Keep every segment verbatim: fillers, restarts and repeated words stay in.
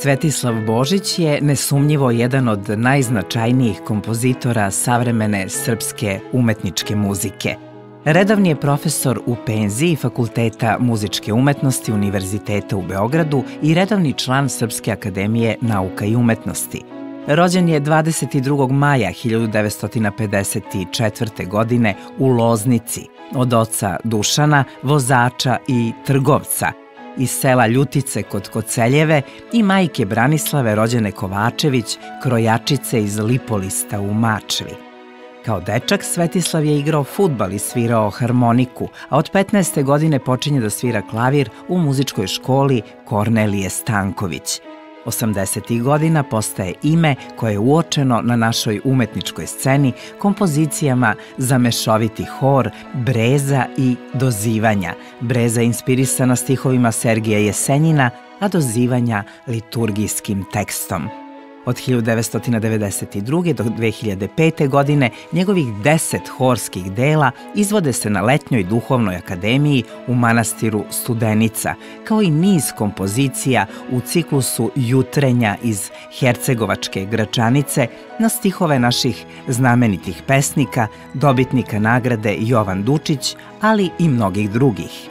Svetislav Božić je nesumnjivo jedan od najznačajnijih kompozitora savremene srpske umetničke muzike. Redovni je profesor u penziji Fakulteta muzičke umetnosti Univerziteta u Beogradu i redovni član Srpske akademije nauka i umetnosti. Rođen je dvadeset drugog maja hiljadu devetsto pedeset četvrte. godine u Loznici od oca Dušana, vozača i trgovca, iz sela Ljutice kod Koceljeve i majke Branislave rođene Kovačević, krojačice iz Lipolista u Mačvi. Kao dečak Svetislav je igrao fudbal i svirao harmoniku, a od petnaeste godine počinje da svira klavir u muzičkoj školi Kornelije Stanković. osamdesetih godina postaje ime koje je uočeno na našoj umetničkoj sceni kompozicijama za mešoviti hor, breza i dozivanja. Breza inspirisana stihovima Sergija Jesenjina, a dozivanja liturgijskim tekstom. Od hiljadu devetsto devedeset druge. do dve hiljade pete. godine njegovih deset horskih dela izvode se na Letnjoj duhovnoj akademiji u manastiru Studenica, kao i niz kompozicija u ciklusu Jutrenja iz Hercegovačke Gračanice na stihove naših znamenitih pesnika, dobitnika nagrade Jovan Dučić, ali i mnogih drugih.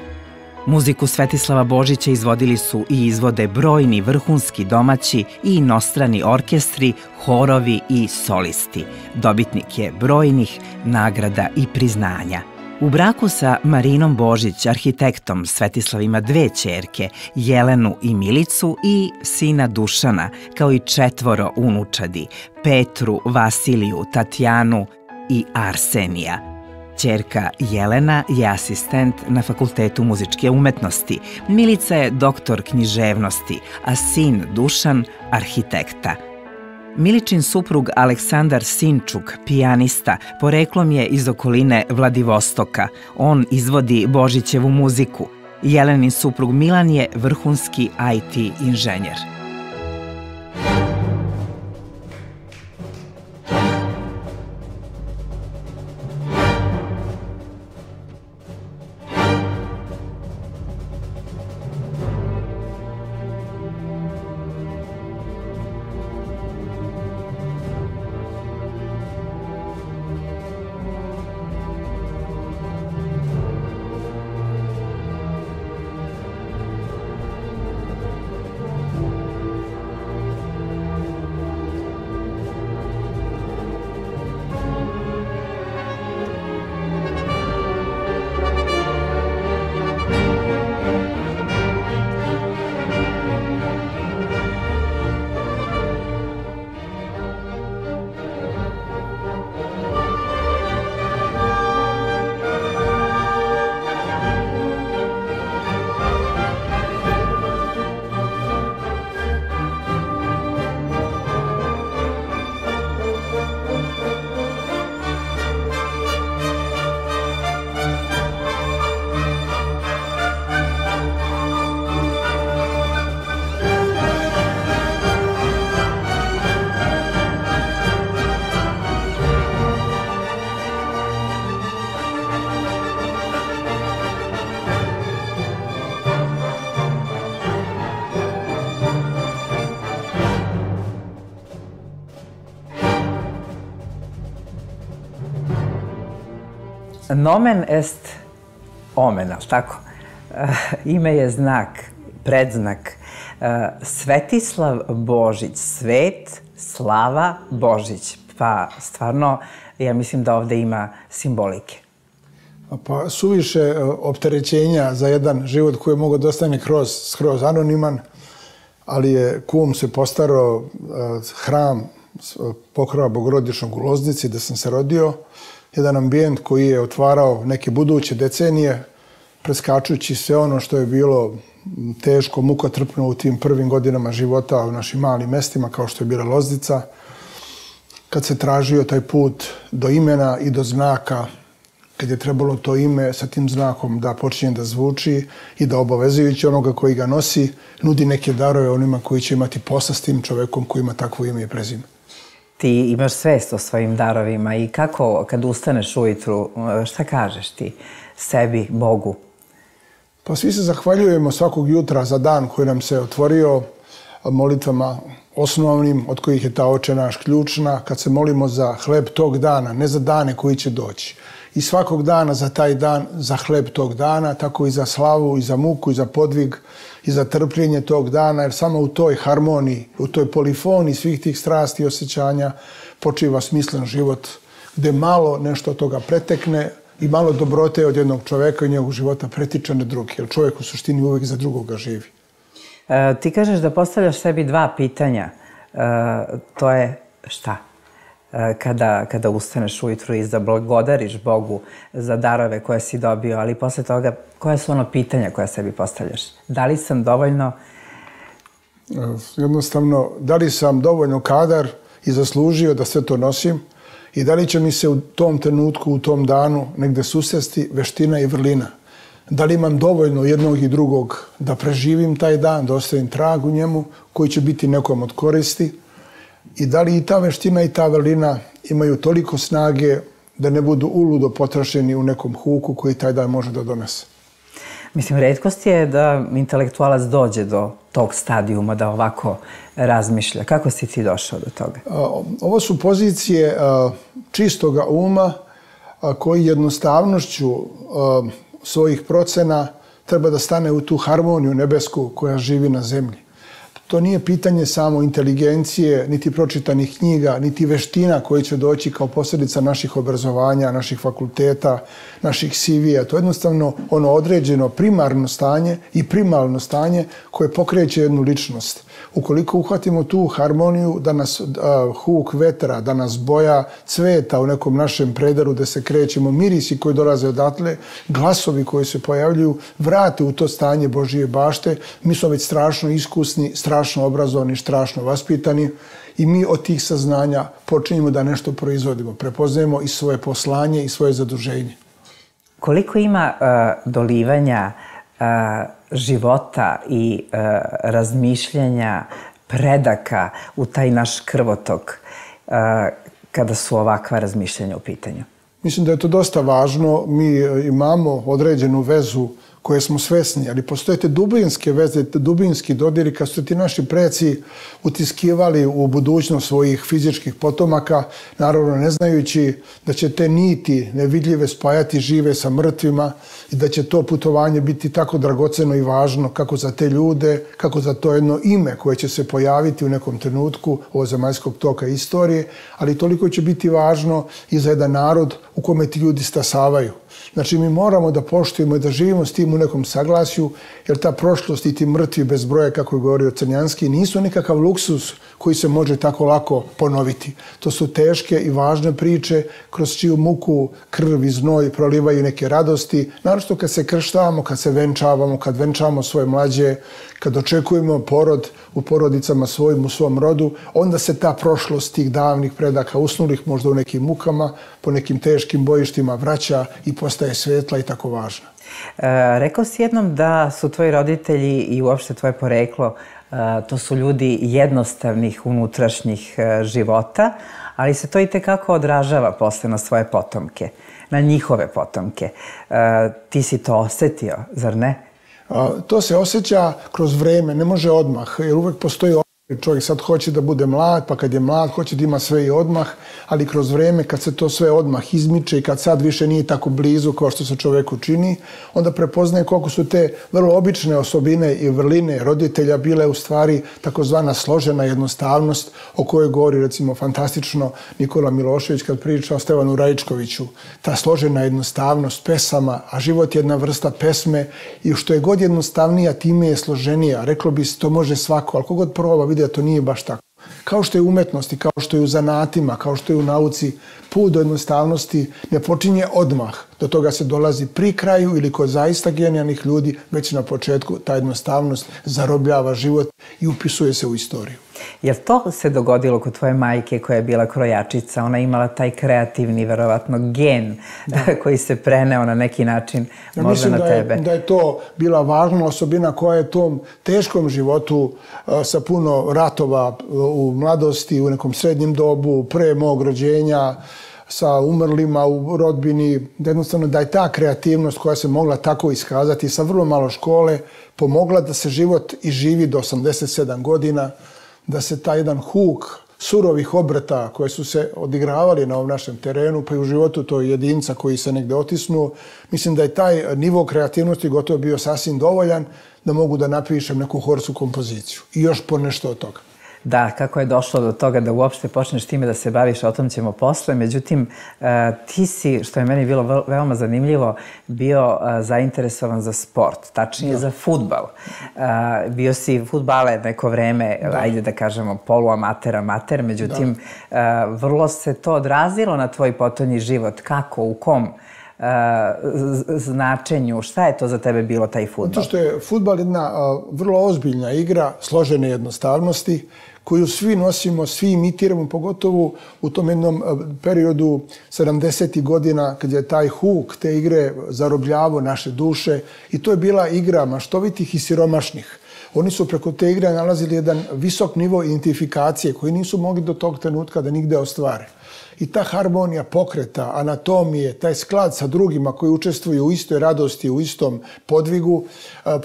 Muziku Svetislava Božića izvodili su i izvode brojni vrhunski domaći i inostrani orkestri, horovi i solisti. Dobitnik je brojnih nagrada i priznanja. U braku sa Marinom Božić, arhitektom, Svetislav ima dve ćerke, Jelenu i Milicu, i sina Dušana, kao i četvoro unučadi, Petru, Vasiliju, Tatjanu i Arsenija. Ćerka Jelena je asistent na Fakultetu muzičke umetnosti, Milica je doktor književnosti, a sin Dušan arhitekta. Miličin suprug Aleksandar Sinčuk, pijanista, poreklom je iz okoline Vladivostoka. On izvodi Božićevu muziku. Jelenin suprug Milan je vrhunski I T inženjer. Nomen est omen, ali tako? Ime je znak, predznak. Svetislav Božić, svet, slava, Božić. Pa stvarno, ja mislim da ovde ima simbolike. Pa suviše opterećenja za jedan život koji je mogao da ostane skroz anoniman, ali je kum se postarao, hram pokrova Bogorodičnog u Loznici, da sam se rodio, jedan ambijent koji je otvarao neke buduće decenije, preskačući sve ono što je bilo teško, mukotrpno u tim prvim godinama života u našim malim mestima, kao što je bila Loznica, kad se tražio taj put do imena i do znaka, kad je trebalo to ime sa tim znakom da počinje da zvuči i da obavezujući onoga koji ga nosi, nudi neke darove onima koji će imati posla s tim čovekom koji ima takvo ime i prezime. Ti imaš svest o svojim darovima i kako kad ustaneš ujutru, šta kažeš ti sebi, Bogu? Pa svi se zahvaljujemo svakog jutra za dan koji nam se otvorio, molitvama osnovnim, od kojih je ta Oče naš ključna, kad se molimo za hleb tog dana, ne za dane koji će doći. I svakog dana za taj dan, za hleb tog dana, tako i za slavu, i za muku, i za podvig, i za trpljenje tog dana, jer samo u toj harmoniji, u toj polifoniji svih tih strasti i osjećanja počiva smislen život, gde malo nešto od toga pretekne i malo dobrote od jednog čoveka i njegovog života pretiče na drugi, jer čovjek u suštini uvijek za drugoga živi. E, ti kažeš da postavljaš sebi dva pitanja. E, to je šta? E, kada, kada ustaneš ujutru i zablagodariš Bogu za darove koje si dobio, ali posle toga, koja su ono pitanja koja sebi postavljaš? Da li sam dovoljno... Jednostavno, da li sam dovoljno kadar i zaslužio da sve to nosim i da li će mi se u tom trenutku, u tom danu negde susresti veština i vrlina. Da li imam dovoljno jednog i drugog da preživim taj dan, da ostavim trag u njemu koji će biti nekom od koristi i da li i ta veština i ta vrlina imaju toliko snage da ne budu uludo potrošeni u nekom huku koji taj dan može da donese. Mislim, retkost je da intelektualac dođe do tog stadijuma, da ovako razmišlja. Kako si ti došao do toga? Ovo su pozicije čistoga uma koji jednostavnošću svojih procena treba da stane u tu harmoniju nebesku koja živi na zemlji. To nije pitanje samo inteligencije, niti pročitanih knjiga, niti veština koje će doći kao posljedica naših obrazovanja, naših fakulteta, naših C V-a. To je jednostavno ono određeno primarno stanje i primalno stanje koje pokreće jednu ličnost. Ukoliko uhvatimo tu harmoniju, da nas uh, huk vetra, da nas boja cveta u nekom našem predaru gde se krećemo, mirisi koji dolaze odatle, glasovi koji se pojavljuju, vrate u to stanje Božije bašte, mi smo već strašno iskusni, strašno obrazovani, strašno vaspitani i mi od tih saznanja počinjemo da nešto proizvodimo, prepoznajemo i svoje poslanje i svoje zaduženje. Koliko ima uh, dolivanja uh, života i uh, razmišljanja, predaka u taj naš krvotok uh, kada su ovakva razmišljanja u pitanju? Mislim da je to dosta važno. Mi imamo određenu vezu koje smo svesni, ali postoje te dubinske veze, te dubinski dodiri kad su ti naši preci utiskivali u budućnost svojih fizičkih potomaka, naravno ne znajući da će te niti nevidljive spajati žive sa mrtvima i da će to putovanje biti tako dragoceno i važno kako za te ljude, kako za to jedno ime koje će se pojaviti u nekom trenutku ovozemaljskog toka istorije, ali toliko će biti važno i za jedan narod u kome ti ljudi stasavaju. Znači, mi moramo da poštujemo i da živimo s tim u nekom saglasju, jer ta prošlost i ti mrtvi bez broja, kako je govorio Crnjanski, nisu nikakav luksus koji se može tako lako ponoviti. To su teške i važne priče kroz čiju muku, krv i znoj prolivaju neke radosti. Naravno kad se krštavamo, kad se venčavamo, kad venčavamo svoje mlađe, kad očekujemo porod u porodicama svojim, u svom rodu, onda se ta prošlost tih davnih predaka, usnulih možda u nekim mukama, po nekim teškim bojištima vraća i postaje svetla i tako važna. E, rekao si jednom da su tvoji roditelji i uopšte tvoje poreklo, e, to su ljudi jednostavnih unutrašnjih e, života, ali se to i tekako odražava posle na svoje potomke, na njihove potomke. E, ti si to osetio, zar ne? A, to se osjeća kroz vreme, ne može odmah, jer uvek postoji odmah. Čovjek sad hoće da bude mlad, pa kad je mlad hoće da ima sve i odmah, ali kroz vreme kad se to sve odmah izmiče i kad sad više nije tako blizu kao što se čovjeku čini, onda prepoznaje koliko su te vrlo obične osobine i vrline roditelja bile u stvari takozvana složena jednostavnost o kojoj govori recimo fantastično Nikola Milošević kad priča o Stevanu Raičkoviću. Ta složena jednostavnost pesama, a život je jedna vrsta pesme i što je god jednostavnija, time je složenija. Reklo bi se to može svako, ali kogod proba vidi da to nije baš tako. Kao što je u umetnosti, kao što je u zanatima, kao što je u nauci, put do jednostavnosti ne počinje odmah. Do toga se dolazi pri kraju ili kod zaista genijalnih ljudi, već na početku ta jednostavnost zarobljava život i upisuje se u istoriju. Jel to se dogodilo kod tvoje majke koja je bila krojačica? Ona je imala taj kreativni, verovatno, gen da. koji se preneo na neki način ja možda na da je, tebe. Da je to bila važna osobina koja je tom teškom životu a, sa puno ratova u mladosti, u nekom srednjem dobu, pre mog rođenja, sa umrlima u rodbini, da jednostavno da je ta kreativnost koja se mogla tako iskazati sa vrlo malo škole pomogla da se život i živi do osamdeset sedam godina, da se taj jedan huk surovih obrata koje su se odigravali na ovom našem terenu, pa i u životu tog jedinca koji se negde otisnuo, mislim da je taj nivo kreativnosti gotovo bio sasvim dovoljan da mogu da napišem neku horsku kompoziciju i još po nešto od toga. Da, kako je došlo do toga da uopšte počneš time da se baviš, o tom ćemo posle. Međutim, ti si, što je meni bilo veoma zanimljivo, bio zainteresovan za sport, tačnije za fudbal. Bio si fudbaler neko vreme, ajde da kažemo poluamater, amater, međutim, vrlo se to odrazilo na tvoj potonji život. Kako, u kom značenju, šta je to za tebe bilo taj fudbal? Zato što je fudbal jedna vrlo ozbiljna igra, složene jednostavnosti, koju svi nosimo, svi imitiramo, pogotovo u tom jednom periodu sedamdesetih godina, kad je taj huk te igre zarobljavao naše duše i to je bila igra maštovitih i siromašnih. Oni su preko te igre nalazili jedan visok nivo identifikacije koji nisu mogli do tog trenutka da nigde ostvare. I ta harmonija pokreta, anatomije, taj sklad sa drugima koji učestvuju u istoj radosti, u istom podvigu,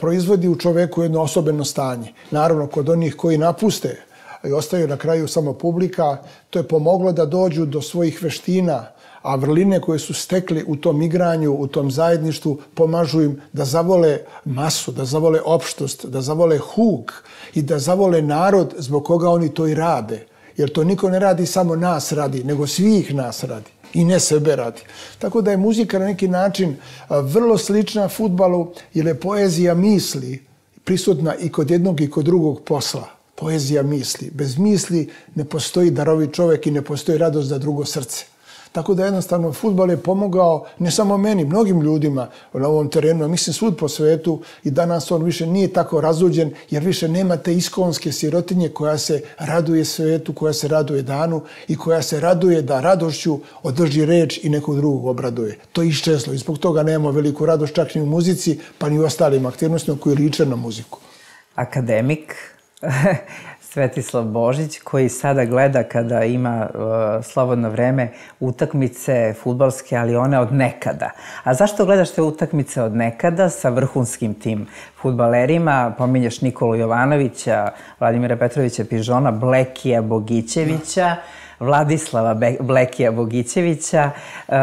proizvodi u čoveku jedno osobeno stanje. Naravno, kod onih koji napuste i ostaju na kraju samo publika, to je pomoglo da dođu do svojih veština, a vrline koje su stekli u tom igranju, u tom zajedništvu, pomažu im da zavole masu, da zavole opštost, da zavole huk i da zavole narod zbog koga oni to i rade. Jer to niko ne radi samo nas radi, nego svih nas radi i ne sebe radi. Tako da je muzika na neki način vrlo slična fudbalu, jer je poezija misli prisutna i kod jednog i kod drugog posla. Poezija misli. Bez misli ne postoji darovit čovjek i ne postoji radost za drugo srce. Tako da jednostavno fudbal je pomogao ne samo meni, mnogim ljudima na ovom terenu, a mislim svud po svetu i danas on više nije tako razuđen jer više nema te iskonske sirotinje koja se raduje svetu, koja se raduje danu i koja se raduje da radošću održi reč i nekog drugog obraduje. To je iščezlo i zbog toga nemamo veliku radost čak ni u muzici pa ni u ostalim aktivnostima koji liče na muziku. Akademik Svetislav Božić, koji sada gleda kada ima uh, slobodno vreme utakmice fudbalske, ali one od nekada. A zašto gledaš te utakmice od nekada sa vrhunskim tim fudbalerima? Pominješ Nikolu Jovanovića, Vladimira Petrovića Pižona, Blekija Bogićevića, Vladislava Blekija Bogićevića. Uh,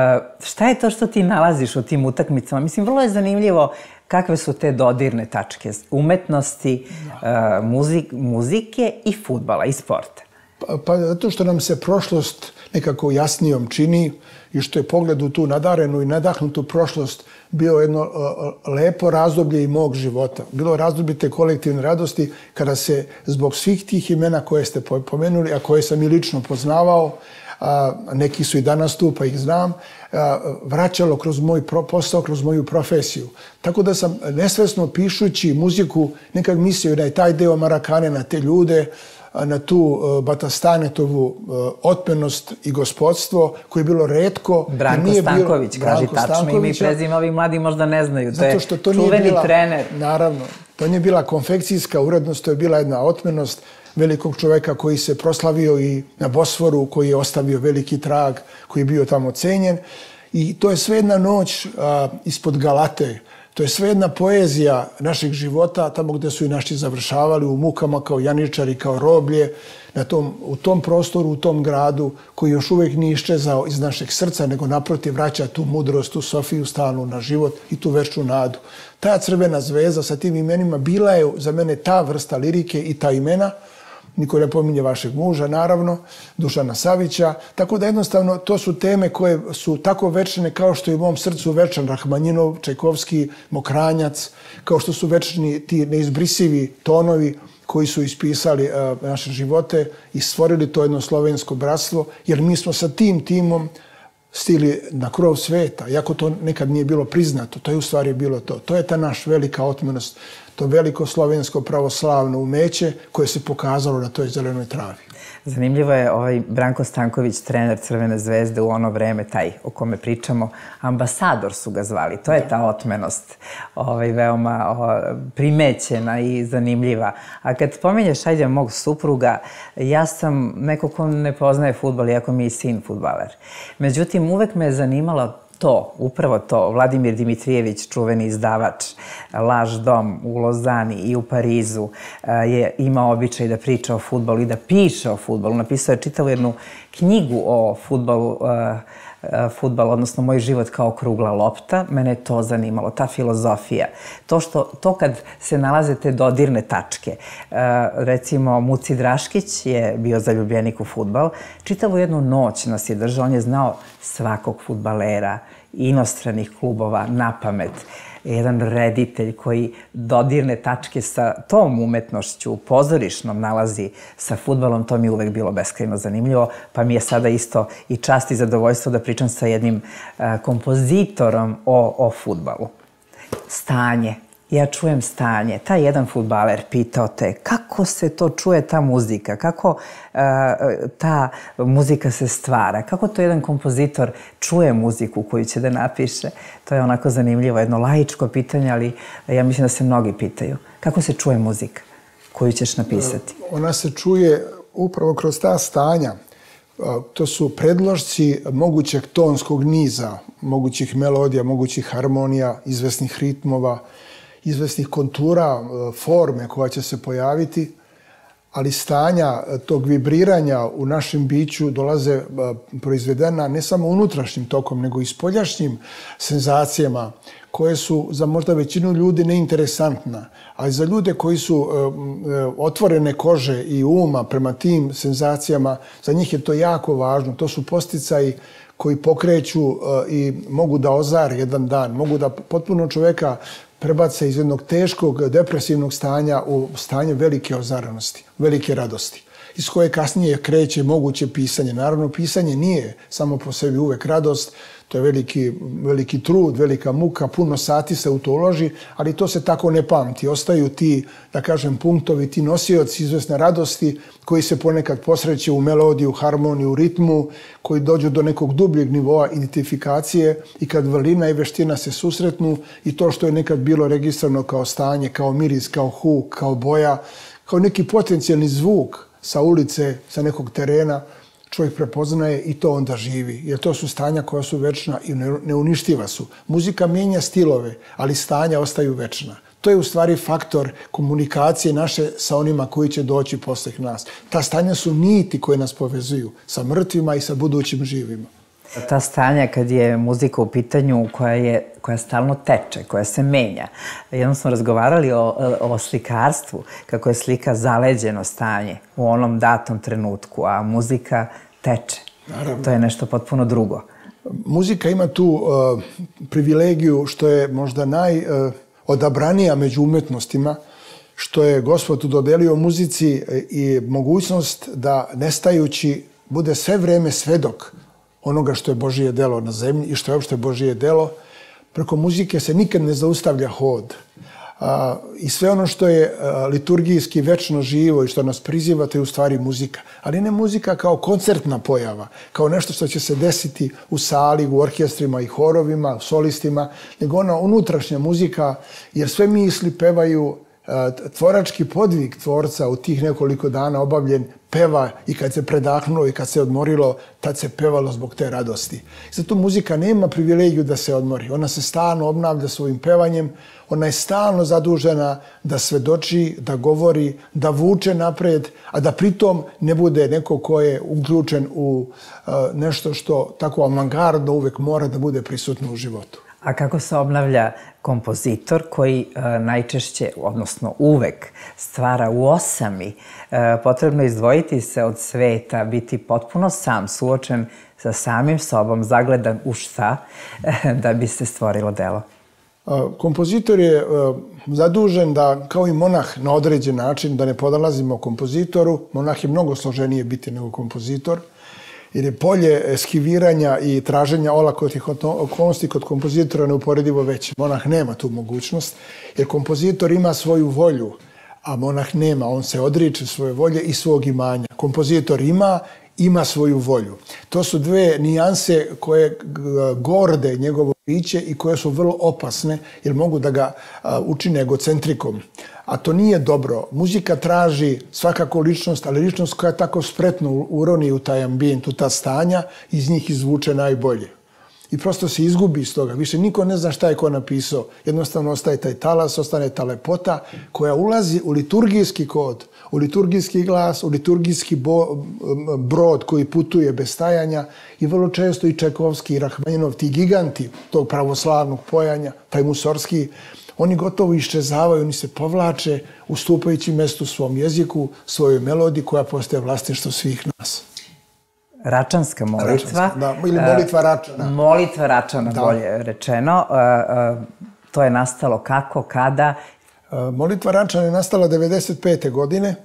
šta je to što ti nalaziš u tim utakmicama? Mislim, vrlo je zanimljivo kakve su te dodirne tačke umetnosti, uh, muzik, muzike i fudbala i sporta? Pa, pa zato što nam se prošlost nekako jasnijom čini i što je pogled u tu nadarenu i nadahnutu prošlost bio jedno uh, lepo razdoblje i mog života. Bilo razdoblje te kolektivne radosti kada se zbog svih tih imena koje ste pomenuli, a koje sam i lično poznavao, a neki su i danas tu pa ih znam, vraćalo kroz moj posao, kroz moju profesiju. Tako da sam nesvesno pišući muziku nekad mislio na taj deo Marakane, na te ljude, na tu Batastanetovu otmenost i gospodstvo koje je bilo retko. Branko Stanković, kaži tačno ime i prezime, ovi mladi možda ne znaju. To je čuveni trener. Naravno, to nije bila konfekcijska urednost, to je bila jedna otmenost velikog čoveka koji se proslavio i na Bosforu, koji je ostavio veliki trag, koji je bio tamo cenjen. I to je sve jedna noć a, ispod Galate. To je sve jedna poezija naših života, tamo gde su i naši završavali, u mukama kao janičari, kao roblje, na tom, u tom prostoru, u tom gradu, koji još uvijek nije iščezao iz našeg srca, nego naprotiv vraća tu mudrost, tu Sofiju stalnu na život i tu večnu nadu. Ta crvena zvezda sa tim imenima bila je za mene ta vrsta lirike i ta imena. Niko ne pominje vašeg muža, naravno, Dušana Savića. Tako da jednostavno to su teme koje su tako večne kao što je u mom srcu večan Rahmanjinov, Čajkovski, Mokranjac, kao što su večni ti neizbrisivi tonovi koji su ispisali uh, naše živote i stvorili to jedno slovensko bratstvo, jer mi smo sa tim timom stigli na krov sveta, iako to nekad nije bilo priznato, to je u stvari bilo to. To je ta naš velika otmenost, to veliko slovensko pravoslavno umeće koje se pokazalo na toj zelenoj travi. Zanimljivo je ovaj Branko Stanković, trener Crvene zvezde u ono vreme, taj o kome pričamo, ambasador su ga zvali. To je ta otmenost veoma primećena i zanimljiva. A kad spominješ, ajde, mog supruga, ja sam neko ko ne poznaje fudbal, iako mi je sin fudbaler. Međutim, uvek me je zanimalo to, upravo to. Vladimir Dimitrijević, čuveni izdavač, Laž dom u Lozani i u Parizu, je imao običaj da priča o fudbalu i da piše o fudbalu. Napisao je čitavu jednu knjigu o fudbalu, fudbal, odnosno Moj život kao krugla lopta. Mene je to zanimalo, ta filozofija. To što, to kad se nalaze te dodirne tačke. Recimo, Muci Draškić je bio zaljubljenik u fudbal. Čitavu jednu noć nas je držao, on je znao svakog fudbalera, inostranih klubova, na pamet. Jedan reditelj koji dodirne tačke sa tom umetnošću pozorišnom nalazi sa fudbalom, to mi je uvek bilo beskrajno zanimljivo, pa mi je sada isto i čast i zadovoljstvo da pričam sa jednim kompozitorom o, o fudbalu. Stanje. Ja čujem stanje. Taj jedan fudbaler pitao te kako se to čuje, ta muzika, kako ta muzika se stvara, kako to jedan kompozitor čuje muziku koju će da napiše. To je onako zanimljivo, jedno laičko pitanje, ali ja mislim da se mnogi pitaju. Kako se čuje muzika koju ćeš napisati? Ona se čuje upravo kroz ta stanja. To su predložci mogućeg tonskog niza, mogućih melodija, mogućih harmonija, izvesnih ritmova, izvesnih kontura, forme koja će se pojaviti, ali stanja tog vibriranja u našem biću dolaze proizvedena ne samo unutrašnjim tokom, nego i spoljašnjim senzacijama koje su za možda većinu ljudi neinteresantna, ali za ljude koji su otvorene kože i uma prema tim senzacijama, za njih je to jako važno. To su podsticaji koji pokreću i mogu da ozare jedan dan, mogu da potpuno čoveka prebace iz jednog teškog, depresivnog stanja u stanje velike ozarenosti, velike radosti, iz koje kasnije kreće moguće pisanje. Naravno, pisanje nije samo po sebi uvek radost, to je veliki, veliki trud, velika muka, puno sati se u to uloži, ali to se tako ne pamti. Ostaju ti, da kažem, punktovi, ti nosioci izvesne radosti koji se ponekad posreće u melodiju, harmoniju, ritmu, koji dođu do nekog dubljeg nivoa identifikacije i kad vrlina i veština se susretnu i to što je nekad bilo registrovano kao stanje, kao miris, kao huk, kao boja, kao neki potencijalni zvuk sa ulice, sa nekog terena, čovjek prepoznaje i to onda živi. Jer to su stanja koja su večna i neuništiva su. Muzika mijenja stilove, ali stanja ostaju večna. To je u stvari faktor komunikacije naše sa onima koji će doći posle nas. Ta stanja su niti koje nas povezuju sa mrtvima i sa budućim živima. Ta stanja kad je muzika u pitanju koja je, koja stalno teče, koja se menja. Jednom smo razgovarali o, o slikarstvu, kako je slika zaleđeno stanje u onom datom trenutku, a muzika teče. Naravno. To je nešto potpuno drugo. Muzika ima tu uh, privilegiju što je možda najodabranija uh, među umetnostima, što je Gospod dodelio muzici i mogućnost da nestajući bude sve vreme svedok onoga što je Božije delo na zemlji i što je uopšte Božije delo. Preko muzike se nikad ne zaustavlja hod. A, I sve ono što je a, liturgijski večno živo i što nas priziva, to je u stvari muzika. Ali ne muzika kao koncertna pojava, kao nešto što će se desiti u sali, u orkestrima i horovima, u solistima, nego ona unutrašnja muzika, jer sve misli pevaju. Tvorački podvig tvorca u tih nekoliko dana obavljen peva i kad se predahnulo i kad se odmorilo, tad se pevalo zbog te radosti. Zato muzika nema privilegiju da se odmori. Ona se stalno obnavlja svojim pevanjem, ona je stalno zadužena da svedoči, da govori, da vuče napred, a da pritom ne bude neko ko je uključen u nešto što tako avangardno uvek mora da bude prisutno u životu. A kako se obnavlja kompozitor koji e, najčešće, odnosno uvek, stvara u osami? E, potrebno je izdvojiti se od sveta, biti potpuno sam, suočen sa samim sobom, zagledan u šta, e, da bi se stvorilo delo. Kompozitor je zadužen da, kao i monah na određen način, da ne podalazimo kompozitoru. Monah je mnogo složenije biti nego kompozitor, jer je polje eskiviranja i traženja olakotnih okolnosti kod kompozitora neuporedivo veće. Monah nema tu mogućnost, jer kompozitor ima svoju volju, a monah nema, on se odriče svoje volje i svog imanja. Kompozitor ima, ima svoju volju. To su dve nijanse koje gorde njegovo biće i koje su vrlo opasne jer mogu da ga učine egocentrikom. A to nije dobro. Muzika traži svakako ličnost, ali ličnost koja tako spretno uroni u taj ambijent, u ta stanja, iz njih izvuče najbolje. I prosto se izgubi iz toga. Više niko ne zna šta je ko napisao. Jednostavno ostaje taj talas, ostane ta lepota koja ulazi u liturgijski kod, u liturgijski glas, u liturgijski bo, brod koji putuje bez stajanja i vrlo često i Čajkovski i Rahmaninov, ti giganti tog pravoslavnog pojanja, taj Musorski, oni gotovo iščezavaju, oni se povlače ustupajući mestu svom jeziku, svojoj melodiji koja postaje vlasništvo svih nas. Račanska molitva. Da, ili molitva Račana. Molitva Račana, da. Bolje rečeno. To je nastalo kako, kada? Molitva Račana je nastala devedeset pete godine.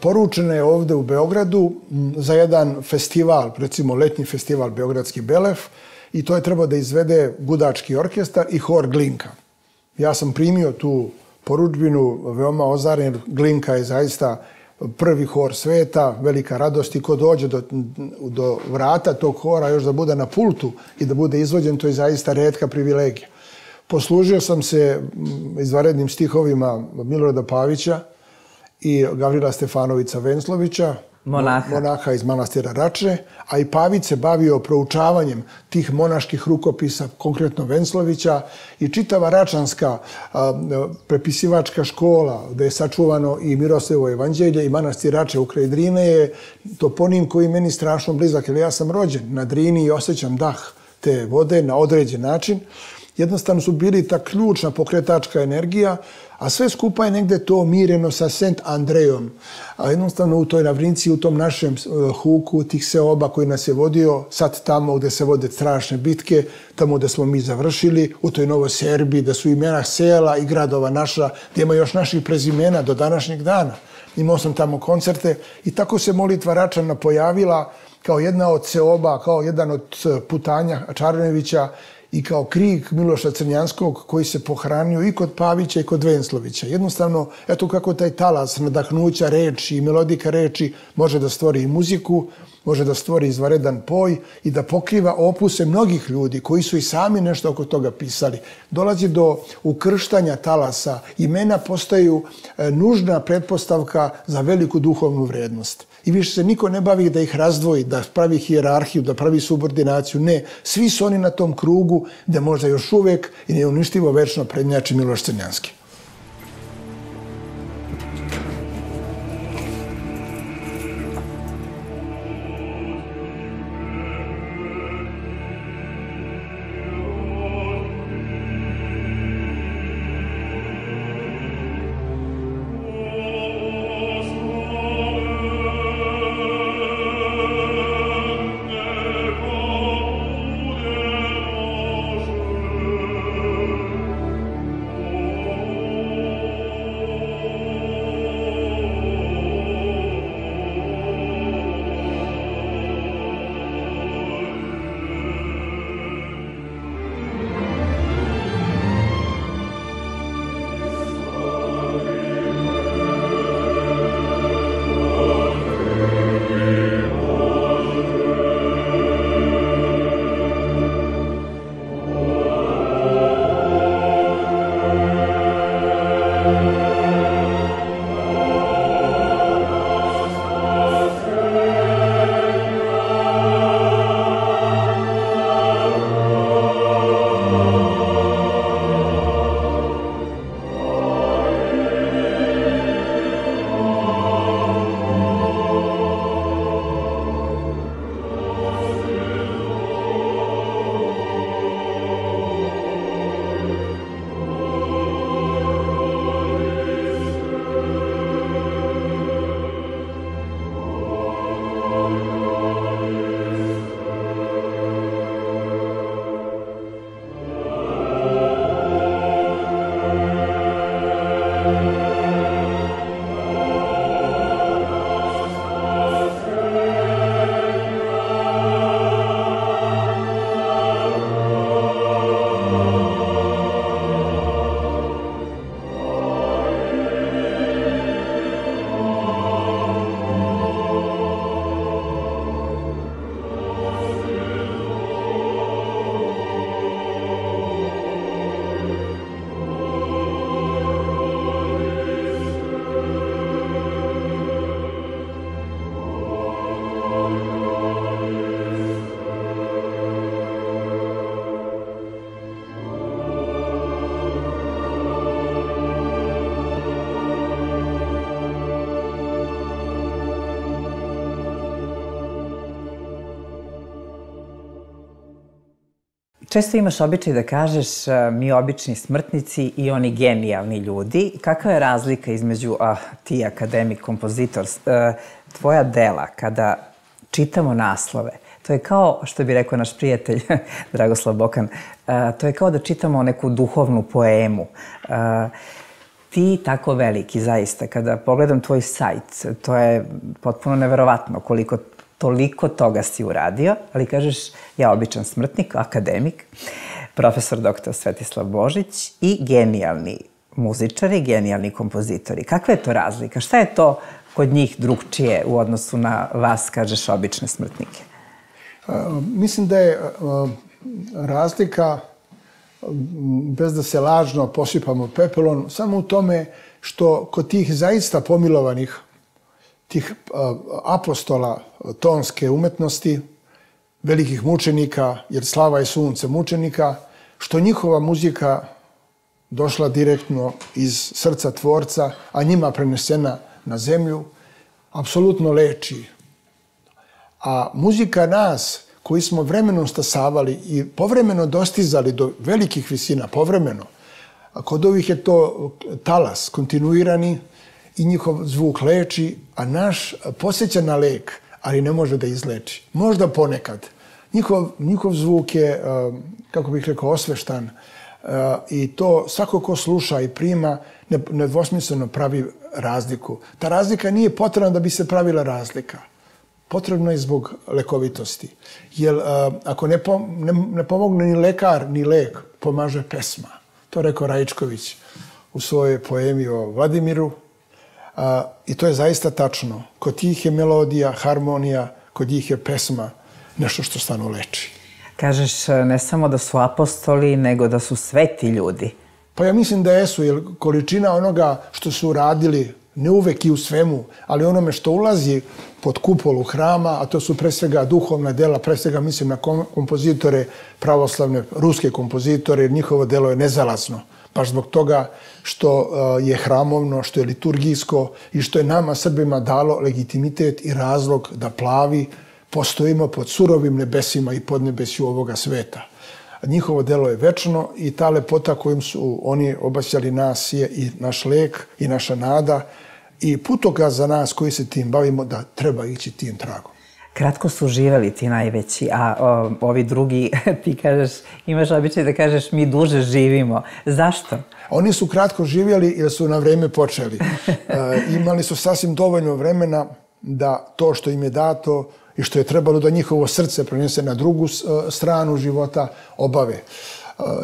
Poručena je ovde u Beogradu za jedan festival, recimo letnji festival Beogradski Belef, i to je trebao da izvede gudački orkestar i hor Glinka. Ja sam primio tu poručbinu, veoma ozaren. Glinka je zaista prvi hor sveta, velika radost i ko dođe do, do vrata tog hora još da bude na pultu i da bude izvođen, to je zaista retka privilegija. Poslužio sam se izvanrednim stihovima Milorada Pavića i Gavrila Stefanovića Venclovića, monaha. monaha iz manastira Rače, a i Pavić se bavio proučavanjem tih monaških rukopisa, konkretno Venclovića, i čitava račanska a, prepisivačka škola, gde je sačuvano i Miroslavljevo evanđelje i manastir Rače u kraj Drine je toponim koji meni strašno blizak, jer ja sam rođen na Drini i osjećam dah te vode na određen način. Jednostavno su bili ta ključna pokretačka energija, a sve skupa je negde to mireno sa Sent Andrejom. A jednostavno u toj Ravrinci, u tom našem huku, tih seoba koji nas je vodio, sad tamo gde se vode strašne bitke, tamo gde smo mi završili, u toj Novoj Serbiji, da su imena sela i gradova naša, gdje ima još naših prezimena do današnjeg dana. Imao sam tamo koncerte i tako se molitva Račana pojavila kao jedna od seoba, kao jedan od putanja Čarnevića, i kao krik Miloša Crnjanskog koji se pohranio i kod Pavića i kod Venclovića. Jednostavno, eto kako taj talas nadahnuća reči i melodika reči može da stvori i muziku, može da stvori izvanredan poj i da pokriva opuse mnogih ljudi koji su i sami nešto oko toga pisali. Dolazi do ukrštanja talasa. Imena postaju nužna pretpostavka za veliku duhovnu vrednost. I više se niko ne bavi da ih razdvoji, da pravi hijerarhiju, da pravi subordinaciju. Ne, svi su oni na tom krugu gde možda još uvek i neuništivo večno prednjači Miloš Crnjanski. Oh Često imaš običaj da kažeš mi obični smrtnici i oni genijalni ljudi. Kakva je razlika između a, ti akademik, kompozitor, tvoja dela kada čitamo naslove? To je kao, što bi rekao naš prijatelj Dragoslav Bokan, to je kao da čitamo neku duhovnu poemu. Ti tako veliki, zaista, kada pogledam tvoj sajt, to je potpuno neverovatno koliko toliko toga si uradio, ali kažeš ja običan smrtnik, akademik, profesor doktor Svetislav Božić i genijalni muzičari, genijalni kompozitori. Kakva je to razlika? Šta je to kod njih drugčije u odnosu na vas, kažeš, obične smrtnike? Mislim da je razlika, bez da se lažno posipamo pepelom, samo u tome što kod tih zaista pomilovanih, tih apostola tonske umetnosti, velikih mučenika, jer slava je sunce mučenika, što njihova muzika došla direktno iz srca tvorca, a njima prenesena na zemlju, apsolutno leči. A muzika nas, koji smo vremenom stasavali i povremeno dostizali do velikih visina, povremeno, a kod ovih je to talas, kontinuirani, i njihov zvuk leči, a naš posjeća na lek, ali ne može da izleči. Možda ponekad. Njihov, njihov zvuk je, kako bih rekao, osveštan i to svako ko sluša i prima nedvosmisleno pravi razliku. Ta razlika nije potrebna da bi se pravila razlika. Potrebno je zbog lekovitosti. Jer ako ne, pom ne, ne pomogne ni lekar, ni lek, pomaže pesma. To rekao Rajičković u svojoj poemi o Vladimiru. A, I to je zaista tačno. Kod njih je melodija, harmonija, kod njih je pesma nešto što stvarno leči. Kažeš ne samo da su apostoli, nego da su sveti ljudi. Pa ja mislim da jesu, jer količina onoga što su radili, ne uvek i u svemu, ali onome što ulazi pod kupolu hrama, a to su pre svega duhovna dela, pre svega mislim na kompozitore, pravoslavne, ruske kompozitore, jer njihovo delo je nezalazno. Baš zbog toga što je hramovno, što je liturgijsko i što je nama, Srbima, dalo legitimitet i razlog da plavi postojimo pod surovim nebesima i podnebesju ovoga sveta. Njihovo delo je večno i ta lepota kojim su oni obasjali nas je i naš lek i naša nada i putokaz za nas koji se tim bavimo da treba ići tim tragom. Kratko su živeli ti najveći, a o, ovi drugi, ti kažeš, imaš običaj da kažeš mi duže živimo. Zašto? Oni su kratko živjeli jer su na vreme počeli. E, imali su sasvim dovoljno vremena da to što im je dato i što je trebalo da njihovo srce prenese na drugu stranu života obave. E,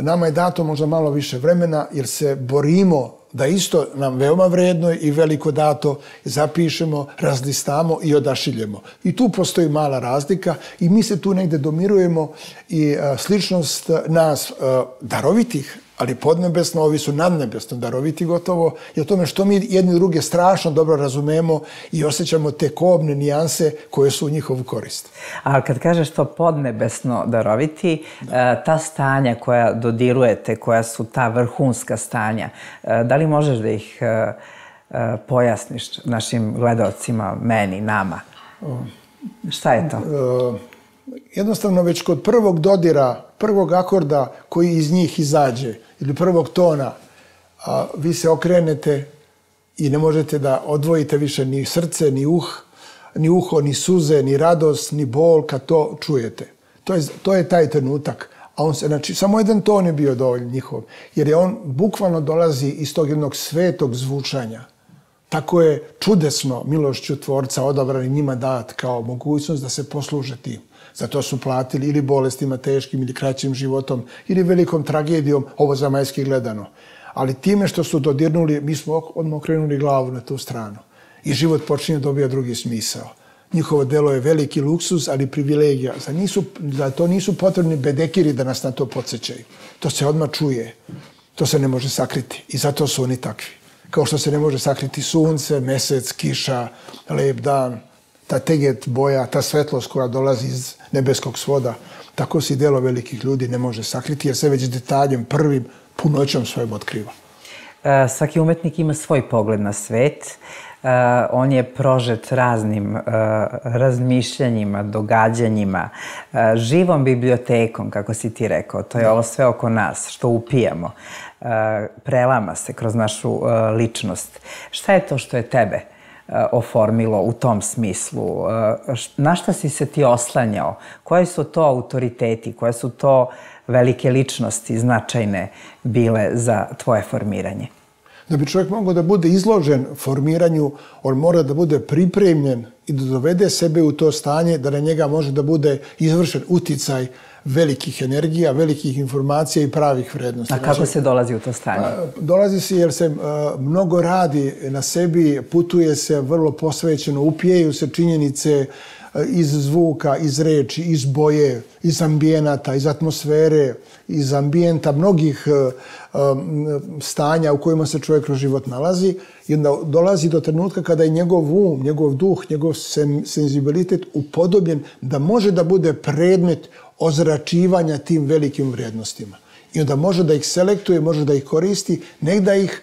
nama je dato možda malo više vremena jer se borimo da isto nam veoma vredno i veliko dato zapišemo, razlistamo i odašiljemo. I tu postoji mala razlika i mi se tu negde domirujemo i a, sličnost nas a, darovitih, ali podnebesno, ovi su nadnebesno daroviti gotovo, je o tome što mi jedni druge strašno dobro razumemo i osjećamo te kobne nijanse koje su u njihovu korist. A kad kažeš to podnebesno daroviti, da. ta stanja koja dodirujete, koja su ta vrhunska stanja, da li možeš da ih pojasniš našim gledalcima, meni, nama? Šta je to? Jednostavno, već kod prvog dodira, prvog akorda koji iz njih izađe, ili prvog tona, a, vi se okrenete i ne možete da odvojite više ni srce, ni uh, ni uho, ni suze, ni radost, ni bol kad to čujete. To je, to je taj trenutak. A on se, znači, samo jedan ton je bio dovoljno njihov, jer je on bukvalno dolazi iz tog jednog svetog zvučanja. Tako je čudesno milošću Tvorca odabran i njima dat kao mogućnost da se posluže tim. Zato su platili ili bolestima teškim, ili kraćim životom, ili velikom tragedijom, ovo zemaljski gledano. Ali time što su dodirnuli, mi smo odmah okrenuli glavu na tu stranu. I život počinje dobija drugi smisao. Njihovo delo je veliki luksuz, ali privilegija. Za, nisu, za to nisu potrebni bedekiri da nas na to podsjećaju. To se odmah čuje. To se ne može sakriti. I zato su oni takvi. Kao što se ne može sakriti sunce, mesec, kiša, lep dan, ta teget boja, ta svetlost koja dolazi iz nebeskog svoda, tako se i delo velikih ljudi ne može sakriti, jer se već detaljem, prvim, punoćom svojom otkriva. Svaki umetnik ima svoj pogled na svet. on je prožet raznim razmišljanjima, događanjima, živom bibliotekom, kako si ti rekao. To je ovo sve oko nas, što upijamo. Prelama se kroz našu ličnost. Šta je to što je tebe oformilo u tom smislu? Na šta si se ti oslanjao? Koji su to autoriteti? Koje su to velike ličnosti značajne bile za tvoje formiranje? Da bi čovjek mogao da bude izložen formiranju, on mora da bude pripremljen i da dovede sebe u to stanje da na njega može da bude izvršen uticaj velikih energija, velikih informacija i pravih vrednosti. A kako se dolazi u to stanje? Dolazi se jer se mnogo radi na sebi, putuje se vrlo posvećeno, upijeju se činjenice iz zvuka, iz reči, iz boje, iz ambijenata, iz atmosfere, iz ambijenta, mnogih stanja u kojima se čovjek kroz život nalazi i onda dolazi do trenutka kada je njegov um, njegov duh, njegov senzibilitet upodobljen da može da bude predmet ozračivanja tim velikim vrijednostima. I onda može da ih selektuje, može da ih koristi, ne da ih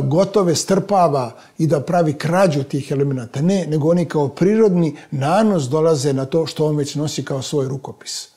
gotove strpava i da pravi krađu tih elemenata. Ne, nego oni kao prirodni nanos dolaze na to što on već nosi kao svoj rukopis.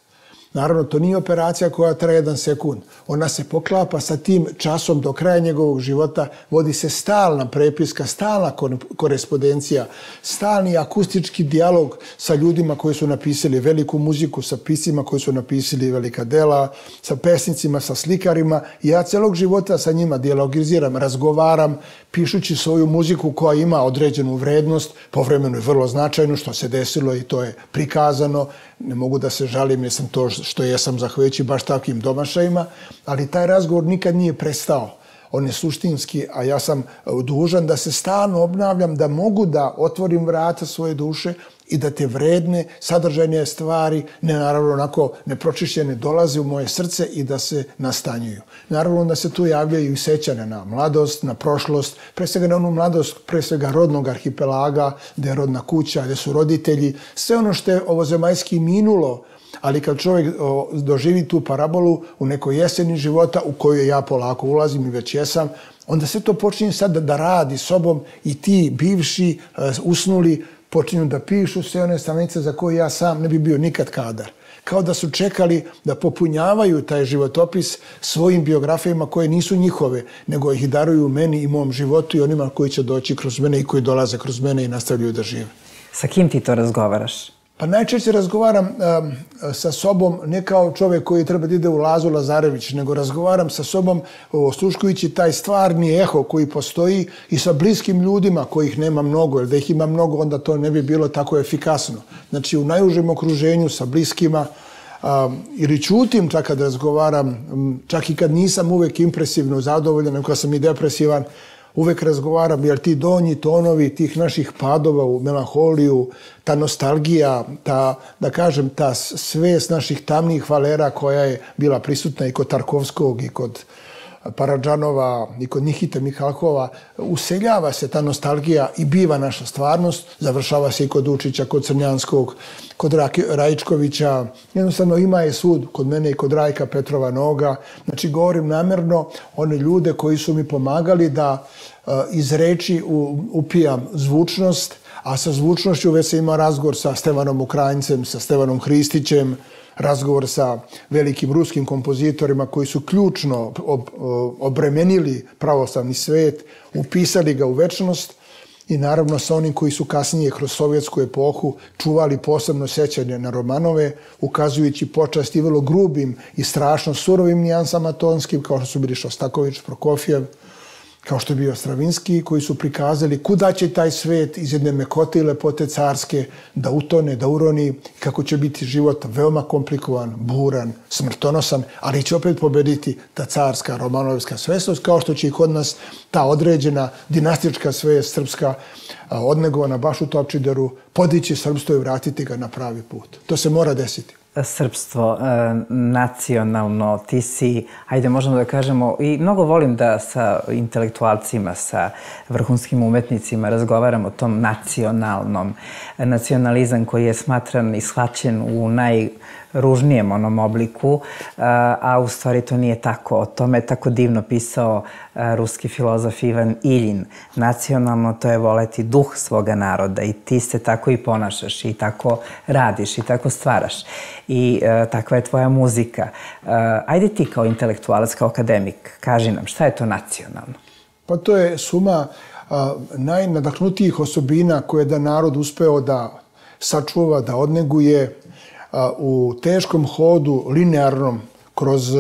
Naravno, to nije operacija koja traje jedan sekund. Ona se poklapa sa tim časom do kraja njegovog života, vodi se stalna prepiska, stalna korespondencija, stalni akustički dijalog sa ljudima koji su napisali veliku muziku, sa piscima koji su napisali velika dela, sa pesnicima, sa slikarima. I ja celog života sa njima dijalogiziram, razgovaram, pišući svoju muziku koja ima određenu vrednost, povremeno je vrlo značajno što se desilo i to je prikazano. Ne mogu da se žalim jer sam to što jesam zahvaljujući baš takvim domašajima, ali taj razgovor nikad nije prestao. On je suštinski, a ja sam dužan da se stalno obnavljam, da mogu da otvorim vrata svoje duše i da te vredne, sadržajne stvari, ne naravno onako nepročišćene, dolaze u moje srce i da se nastanjuju. Naravno da se tu javljaju i sećanja na mladost, na prošlost, pre svega na onu mladost, pre svega rodnog arhipelaga, gde je rodna kuća, gde su roditelji, sve ono što je ovozemaljski minulo, ali kad čovjek doživi tu parabolu u nekoj jeseni života u koju ja polako ulazim i već jesam, onda se to počinje sad da radi sobom i ti bivši, usnuli, počinju da pišu sve one stranice za koje ja sam ne bi bio nikad kadar. Kao da su čekali da popunjavaju taj životopis svojim biografijama koje nisu njihove, nego ih daruju meni i mom životu i onima koji će doći kroz mene i koji dolaze kroz mene i nastavljaju da žive. Sa kim ti to razgovaraš? Pa najčešće razgovaram um, sa sobom ne kao čovjek koji treba da ide u Lazu Lazarević, nego razgovaram sa sobom osluškujući taj stvarni eho koji postoji i sa bliskim ljudima kojih nema mnogo, jer da ih ima mnogo onda to ne bi bilo tako efikasno. Znači u najužem okruženju sa bliskima um, ili ćutim čak kad razgovaram, um, čak i kad nisam uvek impresivno zadovoljan, nego kad sam i depresivan, uvek razgovaram, jer ti donji tonovi tih naših padova u melanholiju, ta nostalgija, ta, da kažem, ta svest naših tamnih valera koja je bila prisutna i kod Tarkovskog i kod Paradžanova i kod Nikite Mihalkova, useljava se ta nostalgija i biva naša stvarnost, završava se i kod Učića, kod Crnjanskog, kod Rajičkovića, jednostavno ima je sud kod mene i kod Rajka Petrova Noga. Znači, govorim namjerno one ljude koji su mi pomagali da uh, iz reči upijam zvučnost, a sa zvučnošću već se ima razgovor sa Stevanom Ukrajincem, sa Stevanom Hristićem, razgovor sa velikim ruskim kompozitorima koji su ključno ob, obremenili pravoslavni svet, upisali ga u večnost i naravno sa onim koji su kasnije kroz sovjetsku epohu čuvali posebno sećanje na Romanove, ukazujući počast i vrlo grubim i strašno surovim nijansama tonskim, kao što su bili Šostaković, Prokofjev, kao što je bio Stravinski, koji su prikazali kuda će taj svet iz jedne mekote i lepote carske da utone, da uroni, kako će biti život veoma komplikovan, buran, smrtonosan, ali će opet pobediti ta carska, romanovska svesnost, kao što će i kod nas ta određena dinastička svest srpska odnegovana baš u Topčideru podići srpstvo i vratiti ga na pravi put. To se mora desiti. Srpstvo, nacionalno, ti si, ajde možemo da kažemo, i mnogo volim da sa intelektualcima, sa vrhunskim umetnicima razgovaram o tom nacionalnom. Nacionalizam koji je smatran i shvaćen u ružnijem onom obliku, a u stvari to nije tako. O tome je tako divno pisao ruski filozof Ivan Iljin. Nacionalno to je voleti duh svoga naroda i ti se tako i ponašaš i tako radiš i tako stvaraš. I takva je tvoja muzika. Ajde ti kao intelektualac, kao akademik, kaži nam šta je to nacionalno? Pa to je suma najnadahnutijih osobina koje je da narod uspeo da sačuva, da odneguje u teškom hodu, linearnom, kroz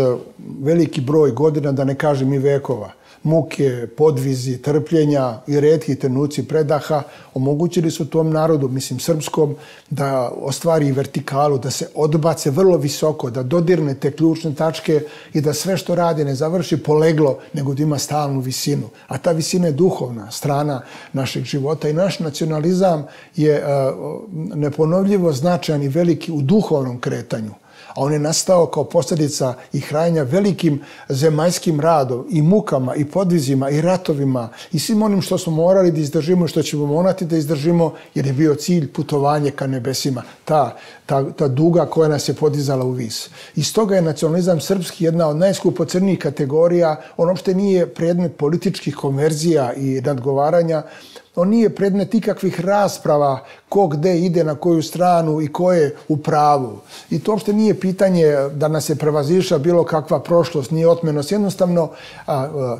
veliki broj godina, da ne kažem i vekova. Muke, podvizi, trpljenja i retki trenuci predaha omogućili su tom narodu, mislim srpskom, da ostvari vertikalu, da se odbace vrlo visoko, da dodirne te ključne tačke i da sve što radi ne završi poleglo, nego da ima stalnu visinu. A ta visina je duhovna strana našeg života i naš nacionalizam je neponovljivo značajan i veliki u duhovnom kretanju. A on je nastao kao posljedica i hranjenja velikim zemaljskim radom i mukama i podvizima i ratovima i svim onim što smo morali da izdržimo i što ćemo morati da izdržimo jer je bio cilj putovanje ka nebesima, ta, ta, ta duga koja nas je podizala u vis. I stoga je nacionalizam srpski jedna od najskupocrnijih kategorija. On uopšte nije predmet političkih konverzija i nadgovaranja. On nije predmet ikakvih rasprava ko gde ide, na koju stranu i ko je u pravu. I to uopšte nije pitanje da nas je prevazišla bilo kakva prošlost, nije otmenost. Jednostavno,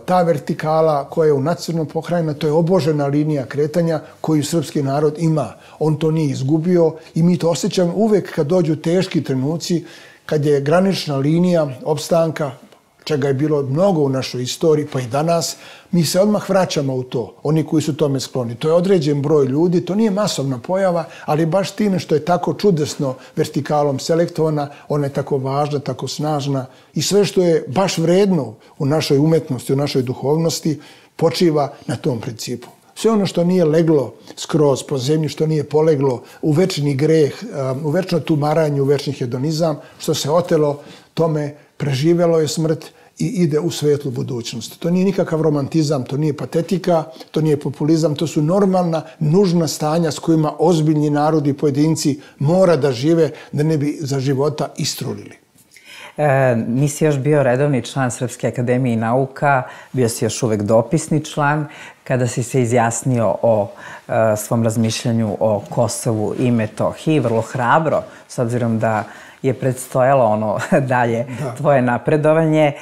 ta vertikala koja je u nacionalnom pokrajina, to je obožena linija kretanja koju srpski narod ima. On to nije izgubio i mi to osjećamo uvek kad dođu teški trenuci, kad je granična linija opstanka, čega je bilo mnogo u našoj istoriji, pa i danas, mi se odmah vraćamo u to, oni koji su tome skloni. To je određen broj ljudi, to nije masovna pojava, ali baš time što je tako čudesno vertikalom selektovana, ona je tako važna, tako snažna i sve što je baš vredno u našoj umetnosti, u našoj duhovnosti, počiva na tom principu. Sve ono što nije leglo skroz po zemlji, što nije poleglo u večni greh, u večno tumaranje, u večni hedonizam, što se otelo, tome preživjelo je smrt i ide u svetlu budućnost. To nije nikakav romantizam, to nije patetika, to nije populizam, to su normalna, nužna stanja s kojima ozbiljni narodi i pojedinci mora da žive da ne bi za života istrulili. E, nisi još bio redovni član Srpske akademije nauka, bio si još uvek dopisni član. Kada si se izjasnio o e, svom razmišljanju o Kosovu i Metohiji, vrlo hrabro, s obzirom da je predstojalo ono dalje da. Tvoje napredovanje.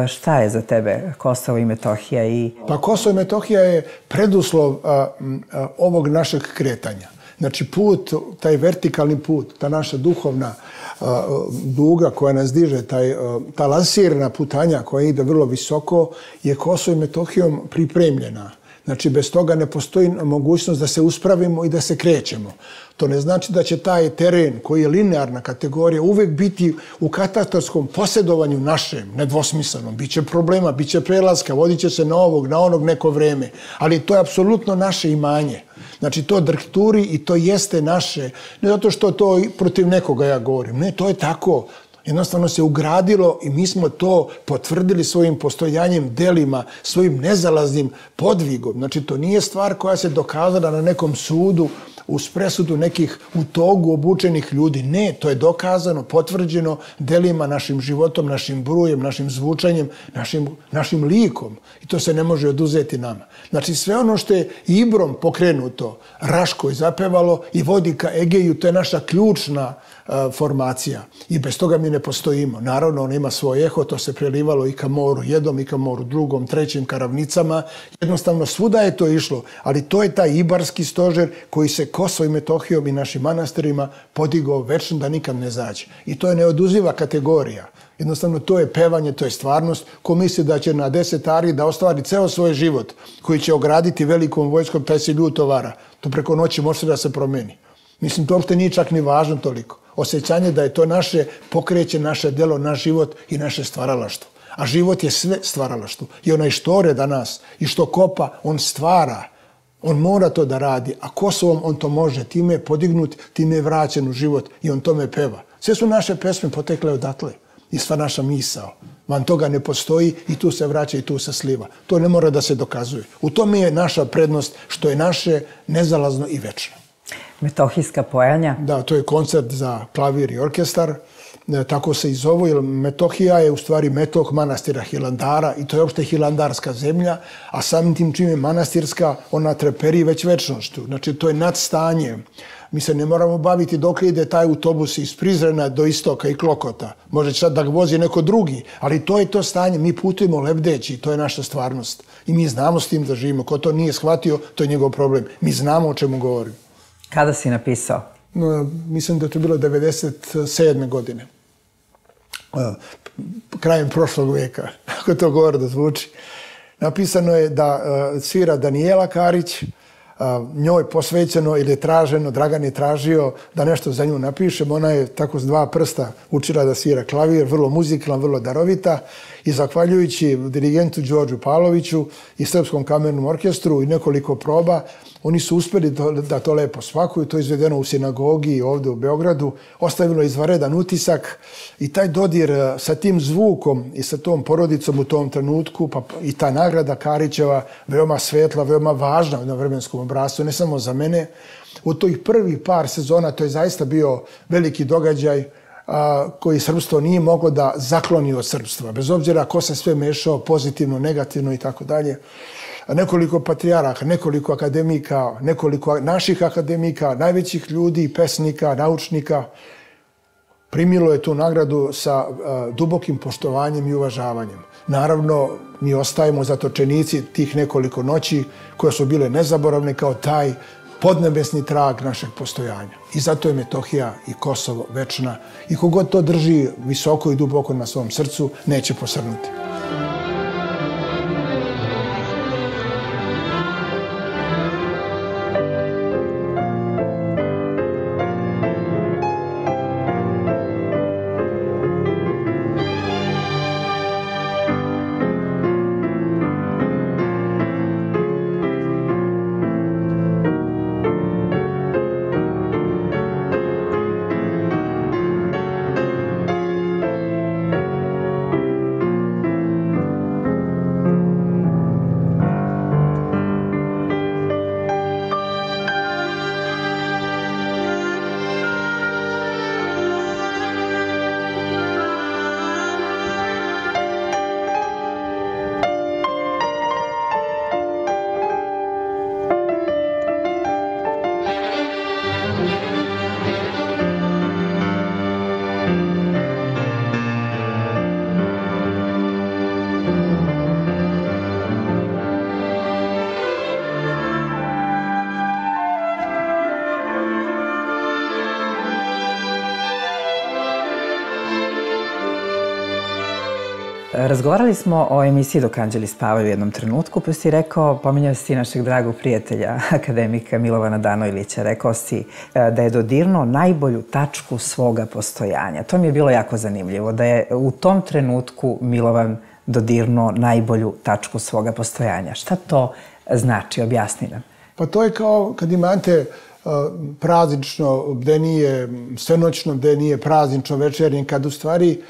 Šta je za tebe Kosovo i Metohija? I... Pa Kosovo i Metohija je preduslov a, a, ovog našeg kretanja. Znači put, taj vertikalni put, ta naša duhovna a, duga koja nas diže, taj, a, ta lansirna putanja koja ide vrlo visoko, je Kosovo i Metohijom pripremljena. Znači, bez toga ne postoji mogućnost da se uspravimo i da se krećemo. To ne znači da će taj teren koji je linearna kategorija uvek biti u katastarskom posjedovanju našem, nedvosmislenom. Biće problema, biće prelaska, vodit će se na ovog, na onog neko vreme. Ali to je apsolutno naše imanje. Znači, to drhturi i to jeste naše. Ne zato što to protiv nekoga ja govorim. Ne, to je tako. Jednostavno se ugradilo i mi smo to potvrdili svojim postojanjem, delima, svojim nezalaznim podvigom. Znači, to nije stvar koja se dokazala na nekom sudu, uz presudu nekih u togu obučenih ljudi. Ne, to je dokazano, potvrđeno delima, našim životom, našim brujem, našim zvučanjem, našim, našim likom. I to se ne može oduzeti nama. Znači, sve ono što je Ibrom pokrenuto, Raško je zapevalo i vodi ka Egeju, to je naša ključna formacija i bez toga mi ne postojimo. Naravno, on ima svoj eho, to se prelivalo i ka moru jednom, i ka moru drugom, trećim, ka ravnicama. Jednostavno, svuda je to išlo, ali to je taj ibarski stožer koji se Kosovo i Metohijom i našim manastirima podigao večno da nikad ne zađe. I to je neoduziva kategorija. Jednostavno, to je pevanje, to je stvarnost. Ko misli da će na deset ari da ostvari ceo svoj život, koji će ograditi velikom vojskom, taj se ljuto vara. To preko noći može da se promeni. Mislim, to uopšte nije čak ni važno toliko. Osjećanje da je to naše pokreće, naše delo, naš život i naše stvaralaštvo. A život je sve stvaralaštvo. I onaj što ore danas i što kopa, on stvara. On mora to da radi. A Kosovom on to može. Time je podignut, time je vraćen u život i on tome peva. Sve su naše pesme potekle odatle. I sva naša misao. Van toga ne postoji i tu se vraća i tu se sliva. To ne mora da se dokazuje. U tome je naša prednost što je naše nezalazno i večno. Metohijska pojanja? Da, to je koncert za klavir i orkestar. tako se i zovu, jer Metohija je u stvari metoh manastira Hilandara i to je uopšte hilandarska zemlja, a samim tim čim je manastirska, ona treperi već večnošću. Znači, to je nadstanje. Mi se ne moramo baviti dok ide taj autobus iz Prizrena do Istoka i Klokota. Može sad da ga vozi neko drugi, ali to je to stanje. Mi putujemo lebdeći, to je naša stvarnost. I mi znamo s tim da živimo. Ko to nije shvatio, to je njegov problem. Mi znamo o čemu govorimo. Kada si napisao? No, mislim da je to bilo devedeset sedme godine. Krajem prošlog veka, ako to gordo zvuči. Napisano je da svira Danijela Karić, njoj posvećeno ili je traženo, Dragan je tražio da nešto za nju napišem. Ona je tako s dva prsta učila da svira klavir, vrlo muzikalan, vrlo darovita i zahvaljujući dirigentu Đorđu Pavloviću i Srpskom kamernom orkestru i nekoliko proba, oni su uspjeli da to lepo svakuju. To je izvedeno u sinagogi ovdje u Beogradu, ostavilo izvanredan utisak i taj dodir sa tim zvukom i sa tom porodicom u tom trenutku, pa i ta nagrada Karićeva, veoma svetla, veoma važna na vremenskom obrascu, ne samo za mene. U tih prvih par sezona to je zaista bio veliki događaj koji srpstvo nije moglo da zakloni od srpstva, bez obzira ko se sve mešao, pozitivno, negativno i tako dalje. Nekoliko patrijaraka, nekoliko akademika, nekoliko naših akademika, najvećih ljudi, pesnika, naučnika, primilo je tu nagradu sa dubokim poštovanjem i uvažavanjem. Naravno, mi ostajemo zatočenici tih nekoliko noći koje su bile nezaboravne kao taj podnebesni trag našeg postojanja. I zato je Metohija i Kosovo večna i kogod to drži visoko i duboko na svom srcu, neće posrnuti. Razgovarali smo o emisiji Dok anđeli spavaju u jednom trenutku, pa si rekao, pominjao si našeg dragog prijatelja, akademika Milovana Danojlića, rekao si da je dodirnuo najbolju tačku svoga postojanja. To mi je bilo jako zanimljivo, da je u tom trenutku Milovan dodirnuo najbolju tačku svoga postojanja. Šta to znači? Objasni nam. Pa to je kao kad imate praznično bdenije, svenoćno bdenije, praznično večernje, kad u stvari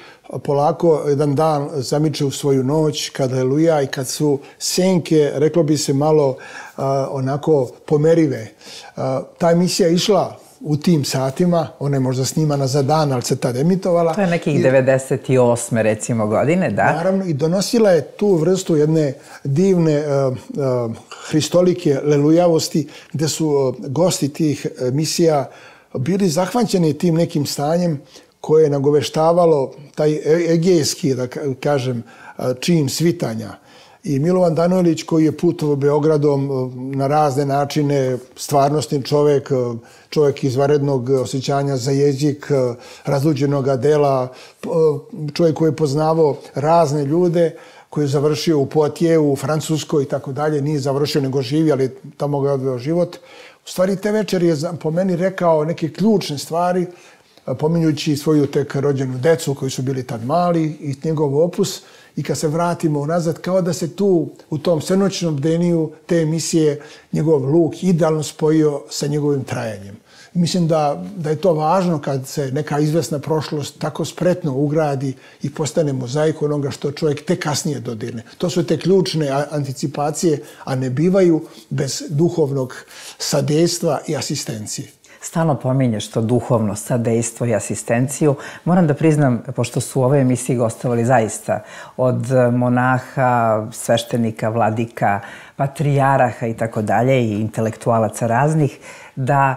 polako jedan dan zamiče u svoju noć, kada je luja i kad su senke, reklo bi se, malo onako pomerive. Ta emisija je išla u tim satima, ona je možda snimana za dan, ali se tad emitovala. To je nekih devedeset osme recimo godine, da? Naravno, i donosila je tu vrstu jedne divne hristolike lelujavosti, gde su gosti tih emisija bili zahvaćeni tim nekim stanjem koje je nagoveštavalo taj egejski, da kažem, čin svitanja. I Milovan Danojlić, koji je putovao Beogradom na razne načine, stvarnostni čovjek, čovjek izvanrednog osjećanja za jezik, razluđenog dela, čovjek koji je poznavao razne ljude, koji je završio u Poitiers, u Francuskoj i tako dalje, nije završio nego živi, ali tamo ga je odveo život. U stvari, te večer je po meni rekao neke ključne stvari, pominjući svoju tek rođenu decu koji su bili tad mali i njegov opus. I kad se vratimo unazad, kao da se tu u tom svenoćnom bdeniju te emisije njegov luk idealno spojio sa njegovim trajanjem. Mislim da, da je to važno kad se neka izvesna prošlost tako spretno ugradi i postane mozaik onoga što čovjek tek kasnije dodirne. To su te ključne anticipacije, a ne bivaju bez duhovnog sadejstva i asistencije. stalno pominješ to duhovno, sadejstvo i asistenciju. Moram da priznam, pošto su u ovoj emisiji gostovali zaista od monaha, sveštenika, vladika, patrijaraha i tako dalje i intelektualaca raznih, da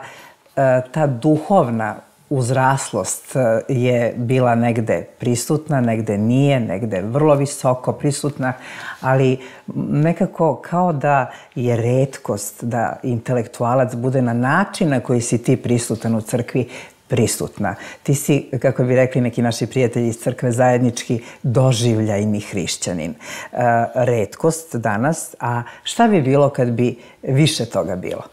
ta duhovna uzraslost je bila negde prisutna, negde nije, negde vrlo visoko prisutna, ali nekako kao da je retkost da intelektualac bude na način na koji si ti prisutan u crkvi prisutna. Ti si, kako bi rekli neki naši prijatelji iz crkve, zajednički doživljajni hrišćanin. Retkost danas, a šta bi bilo kad bi više toga bilo?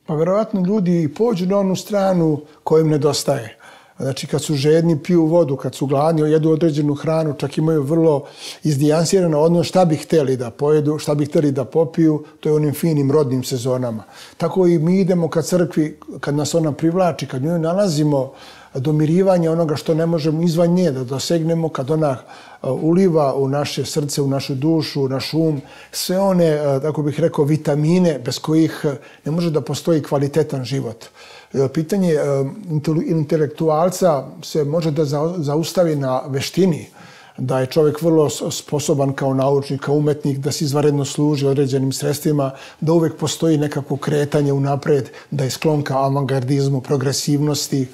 Pa verovatno ljudi pođu na onu stranu kojim nedostaje. Znači kad su žedni, piju vodu, kad su gladni, jedu određenu hranu, čak imaju vrlo izdijansirano odnos šta bi htjeli da pojedu, šta bi htjeli da popiju, to je onim finim rodnim sezonama. Tako i mi idemo ka crkvi, kad nas ona privlači, kad nju nalazimo domirivanje onoga što ne možemo izvan nje da dosegnemo, kad ona uliva u naše srce, u našu dušu, u naš um, sve one, tako bih rekao, vitamine bez kojih ne može da postoji kvalitetan život. Pitanje intelektualca se može da zaustavi na veštini, da je čovjek vrlo sposoban kao naučnik, kao umetnik, da se izvanredno služi određenim sredstvima, da uvek postoji nekako kretanje unapred, da je sklon ka avangardizmu, progresivnosti,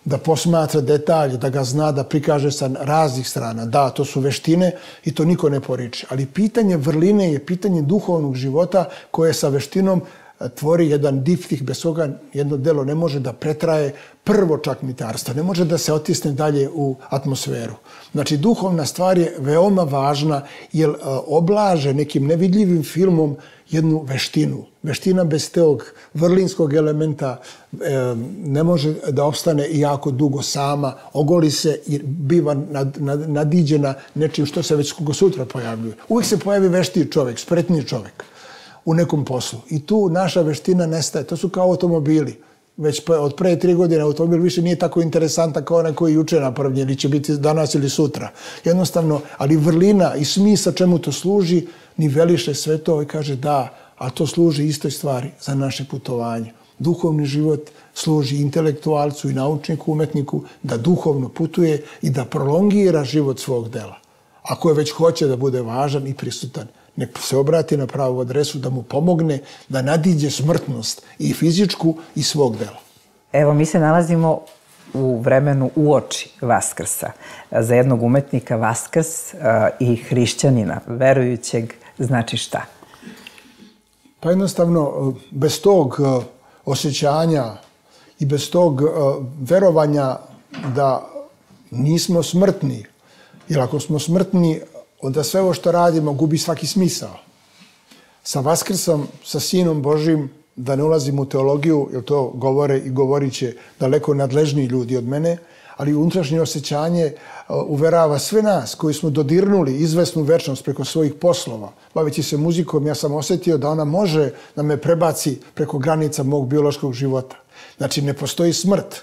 da posmatra detalje, da ga zna, da prikaže sa raznih strana. Da, to su veštine i to niko ne poriče. Ali pitanje vrline je pitanje duhovnog života koje sa veštinom tvori jedan diptih, bez koga jedno delo ne može da pretraje prvo čakmitarstvo, ne može da se otisne dalje u atmosferu. Znači, duhovna stvar je veoma važna jer oblaže nekim nevidljivim filmom jednu veštinu. Veština bez tog vrlinskog elementa ne može da opstane jako dugo sama, ogoli se i biva nadiđena nečim što se već sutra pojavljuje. Uvijek se pojavi veštiji čovjek, spretniji čovjek u nekom poslu. I tu naša veština nestaje. To su kao automobili. Već od pre tri godine automobil više nije tako interesantan kao onaj koji je juče napravljen ili će biti danas ili sutra. Jednostavno, ali vrlina i smisao čemu to služi, niveliše sve to i kaže da, a to služi istoj stvari za naše putovanje. Duhovni život služi intelektualcu i naučniku, umetniku da duhovno putuje i da prolongira život svog dela. Ako je već hoće da bude važan i prisutan, nek se obrati na pravu adresu da mu pomogne da nadiđe smrtnost i fizičku i svog dela. Evo, mi se nalazimo u vremenu uoči Vaskrsa. Za jednog umetnika Vaskrs i hrišćanina, verujućeg, znači šta? Pa jednostavno, bez tog osjećanja i bez tog verovanja da nismo smrtni, jer ako smo smrtni, onda sve ovo što radimo gubi svaki smisao. Sa Vaskrsom, sa Sinom Božim, da ne ulazim u teologiju, jer to govore i govorit će daleko nadležniji ljudi od mene, ali unutrašnje osjećanje uverava sve nas koji smo dodirnuli izvesnu večnost preko svojih poslova. Baveći se muzikom, ja sam osjetio da ona može da me prebaci preko granica mog biološkog života. Znači, ne postoji smrt.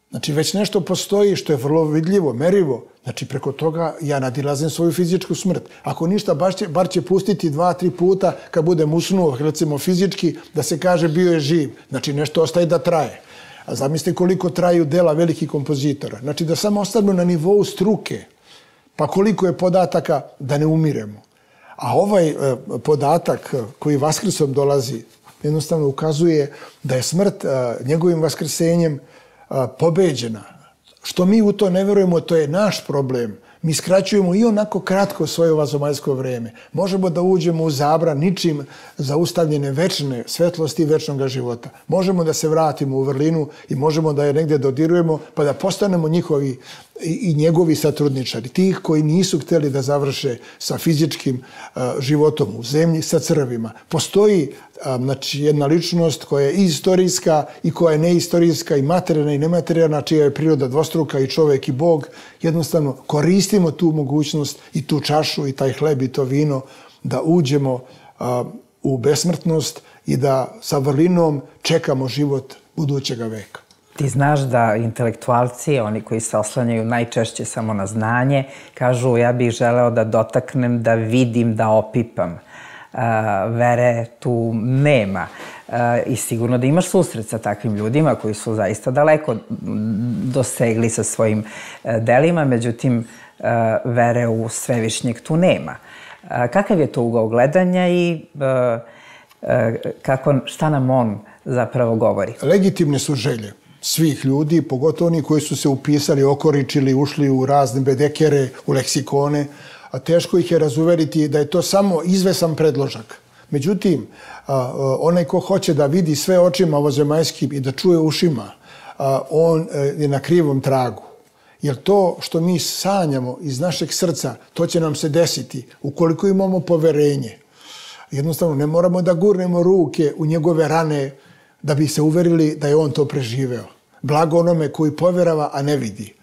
Znači, već nešto postoji što je vrlo vidljivo, merivo. Znači, preko toga ja nadilazim svoju fizičku smrt. Ako ništa, bar će pustiti dva, tri puta kad budem usnuo, recimo fizički, da se kaže bio je živ. Znači, nešto ostaje da traje. A zamislite koliko traju dela velikih kompozitora. Znači, da samo ostanu na nivou struke. Pa koliko je podataka da ne umiremo. A ovaj podatak koji Vaskrsom dolazi, jednostavno ukazuje da je smrt njegovim vaskrsenjem pobeđena. Što mi u to ne verujemo, to je naš problem. Mi skraćujemo i onako kratko svoje ovazemaljsko vreme. Možemo da uđemo u zabran ničim zaustavljene večne svetlosti i večnog života. Možemo da se vratimo u vrlinu i možemo da je negdje dodirujemo pa da postanemo njihovi i njegovi satrudničari. Tih koji nisu htjeli da završe sa fizičkim životom u zemlji, sa crvima. Postoji znači, jedna ličnost koja je i istorijska i koja je neistorijska i materijalna i nematerijalna, čija je priroda dvostruka i čovjek i Bog. Jednostavno koristimo tu mogućnost i tu čašu i taj hleb i to vino da uđemo u besmrtnost i da sa vrlinom čekamo život budućega veka. Ti znaš da intelektualci, oni koji se oslanjaju najčešće samo na znanje, kažu ja bih želeo da dotaknem, da vidim, da opipam. Vere tu nema. i sigurno da imaš susret sa takvim ljudima koji su zaista daleko dosegli sa svojim delima, međutim, vere u Svevišnjeg tu nema. Kakav je to ugao gledanja i kako, šta nam on zapravo govori? Legitimne su želje svih ljudi, pogotovo oni koji su se upisali, okoričili, ušli u razne bedekere, u leksikone, a teško ih je razuveriti da je to samo izvesan predložak. Međutim, onaj ko hoće da vidi sve očima ovozemaljskim i da čuje ušima, on je na krivom tragu. Jer to što mi sanjamo iz našeg srca, to će nam se desiti ukoliko imamo poverenje. Jednostavno, ne moramo da gurnemo ruke u njegove rane da bi se uverili da je on to preživeo. Blago onome koji poverava, a ne vidi.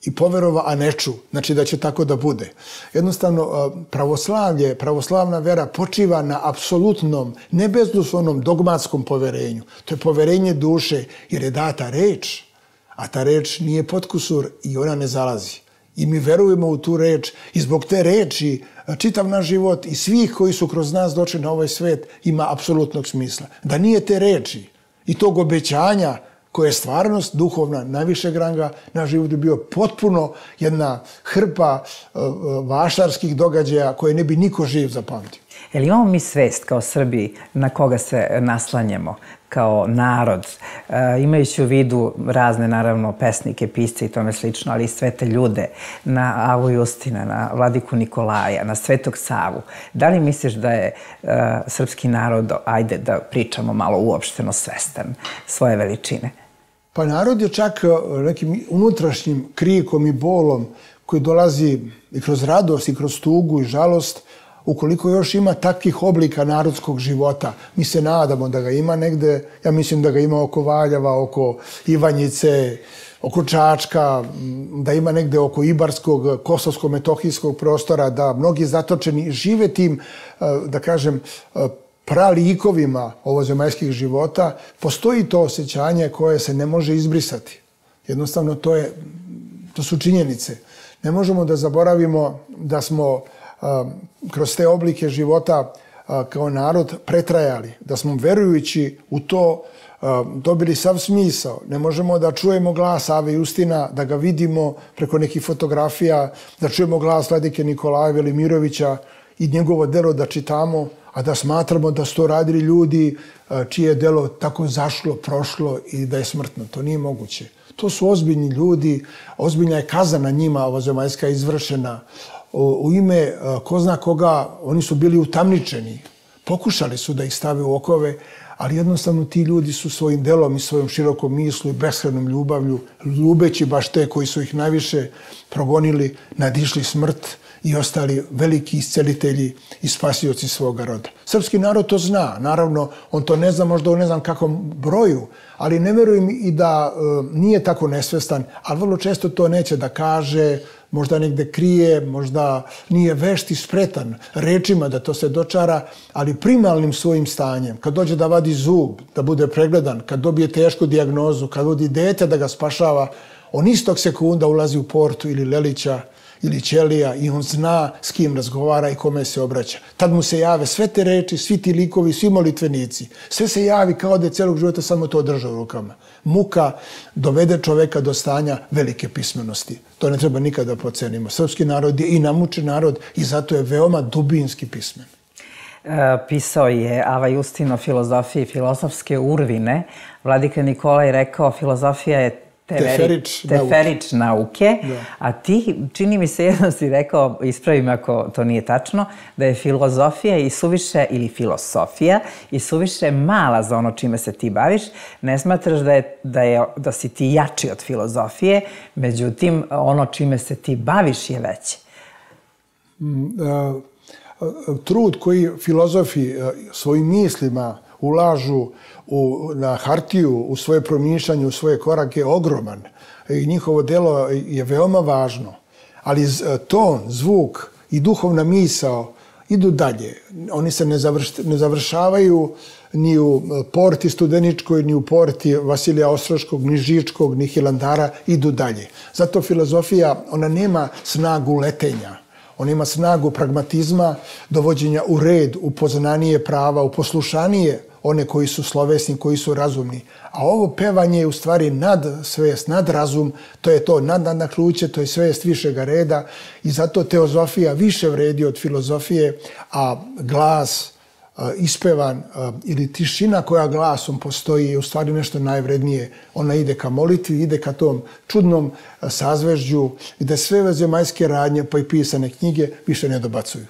I poverova, a ne ču. Znači da će tako da bude. Jednostavno, pravoslavlje, pravoslavna vera počiva na apsolutnom, nebezuslovnom dogmatskom poverenju. To je poverenje duše, jer je data reč, a ta reč nije potkusur i ona ne zalazi. I mi verujemo u tu reč i zbog te reči čitav naš život i svih koji su kroz nas došli na ovaj svet ima apsolutnog smisla. Da nije te reči i tog obećanja koja je stvarnost duhovna, najvišeg ranga, naš život je bio potpuno jedna hrpa vašarskih događaja koje ne bi niko živ zapamtio. Je li imamo mi svest kao Srbi na koga se naslanjamo kao narod, imajući u vidu razne, naravno, pesnike, pisce i tome slično, ali i sve te ljude, na Avu Justina, na Vladiku Nikolaja, na Svetog Savu. Da li misliš da je srpski narod, ajde da pričamo malo uopšteno, svestan svoje veličine? Pa narod je čak nekim unutrašnjim krikom i bolom koji dolazi i kroz radost i kroz tugu i žalost. Ukoliko još ima takvih oblika narodskog života, mi se nadamo da ga ima negde, ja mislim da ga ima oko Valjeva, oko Ivanjice, oko Čačka, da ima negde oko Ibarskog, kosovsko-metohijskog prostora, da mnogi zatočeni žive tim, da kažem, pralikovima ovozemaljskih života, postoji to osjećanje koje se ne može izbrisati. Jednostavno, to, je, to su činjenice. Ne možemo da zaboravimo da smo kroz te oblike života kao narod pretrajali, da smo verujući u to dobili sav smisao. Ne možemo da čujemo glas Ave Justina, da ga vidimo preko nekih fotografija, da čujemo glas Vladike Nikolaja Velimirovića i njegovo delo da čitamo, a da smatramo da su to radili ljudi čije je delo tako zašlo, prošlo i da je smrtno. To nije moguće. To su ozbiljni ljudi, ozbiljna je kazna na njima ovozemaljska izvršena. U ime ko zna koga, oni su bili utamničeni. Pokušali su da ih stave u okove, ali jednostavno ti ljudi su svojim delom i svojom širokom mislu i beskrajnom ljubavlju, ljubeći baš te koji su ih najviše progonili, nadišli smrt i ostali veliki iscelitelji i spasioci svoga roda. Srpski narod to zna. Naravno, on to ne zna možda u ne znam kakvom broju, ali ne verujem i da nije tako nesvestan, ali vrlo često to neće da kaže, možda negde krije, možda nije vešt i spretan rečima da to se dočara, ali primalnim svojim stanjem, kad dođe da vadi zub, da bude pregledan, kad dobije tešku dijagnozu, kad vodi dete da ga spašava, on istog sekunda ulazi u Portu ili Lelića ili Ćelija i on zna s kim razgovara i kome se obraća. Tad mu se jave sve te reči, svi ti likovi, svi molitvenici. Sve se javi kao da je celog života samo to drža u rukama. Muka dovede čoveka do stanja velike pismenosti. To ne treba nikada pocenimo. Srpski narod je i namučen narod i zato je veoma dubinski pismen. Pisao je Ava Justin o filozofiji filozofske urvine. Vladika Nikolaj rekao filozofija je Teferič, teferič nauke, da. A ti, čini mi se, jedno si rekao, ispravi me ako to nije tačno, da je filozofija i suviše, ili filosofija, i suviše mala za ono čime se ti baviš. Ne smatraš da, je, da, je, da si ti jači od filozofije, međutim, ono čime se ti baviš je veće. Trud koji filozofi svojim mislima ulažu u, na hartiju, u svoje promišljanje, u svoje korake, ogroman. I njihovo delo je veoma važno. Ali ton, zvuk i duhovna misao idu dalje. Oni se ne, završ, ne završavaju ni u Porti Studeničkoj, ni u Porti Vasilija Ostroškog, ni Žičkog, ni Hilandara, idu dalje. Zato filozofija, ona nema snagu letenja. Ona ima snagu pragmatizma, dovođenja u red, u poznanije prava, u poslušanije one koji su slovesni, koji su razumni. A ovo pevanje je u stvari nad svest, nad razum, to je to nad nadahnuće, to je svest višega reda i zato teozofija više vredi od filozofije, a glas ispevan ili tišina koja glasom postoji je u stvari nešto najvrednije. Ona ide ka molitvi, ide ka tom čudnom sazvežđu i da sve vanzemaljske radnje pa i pisane knjige više ne dobacuju.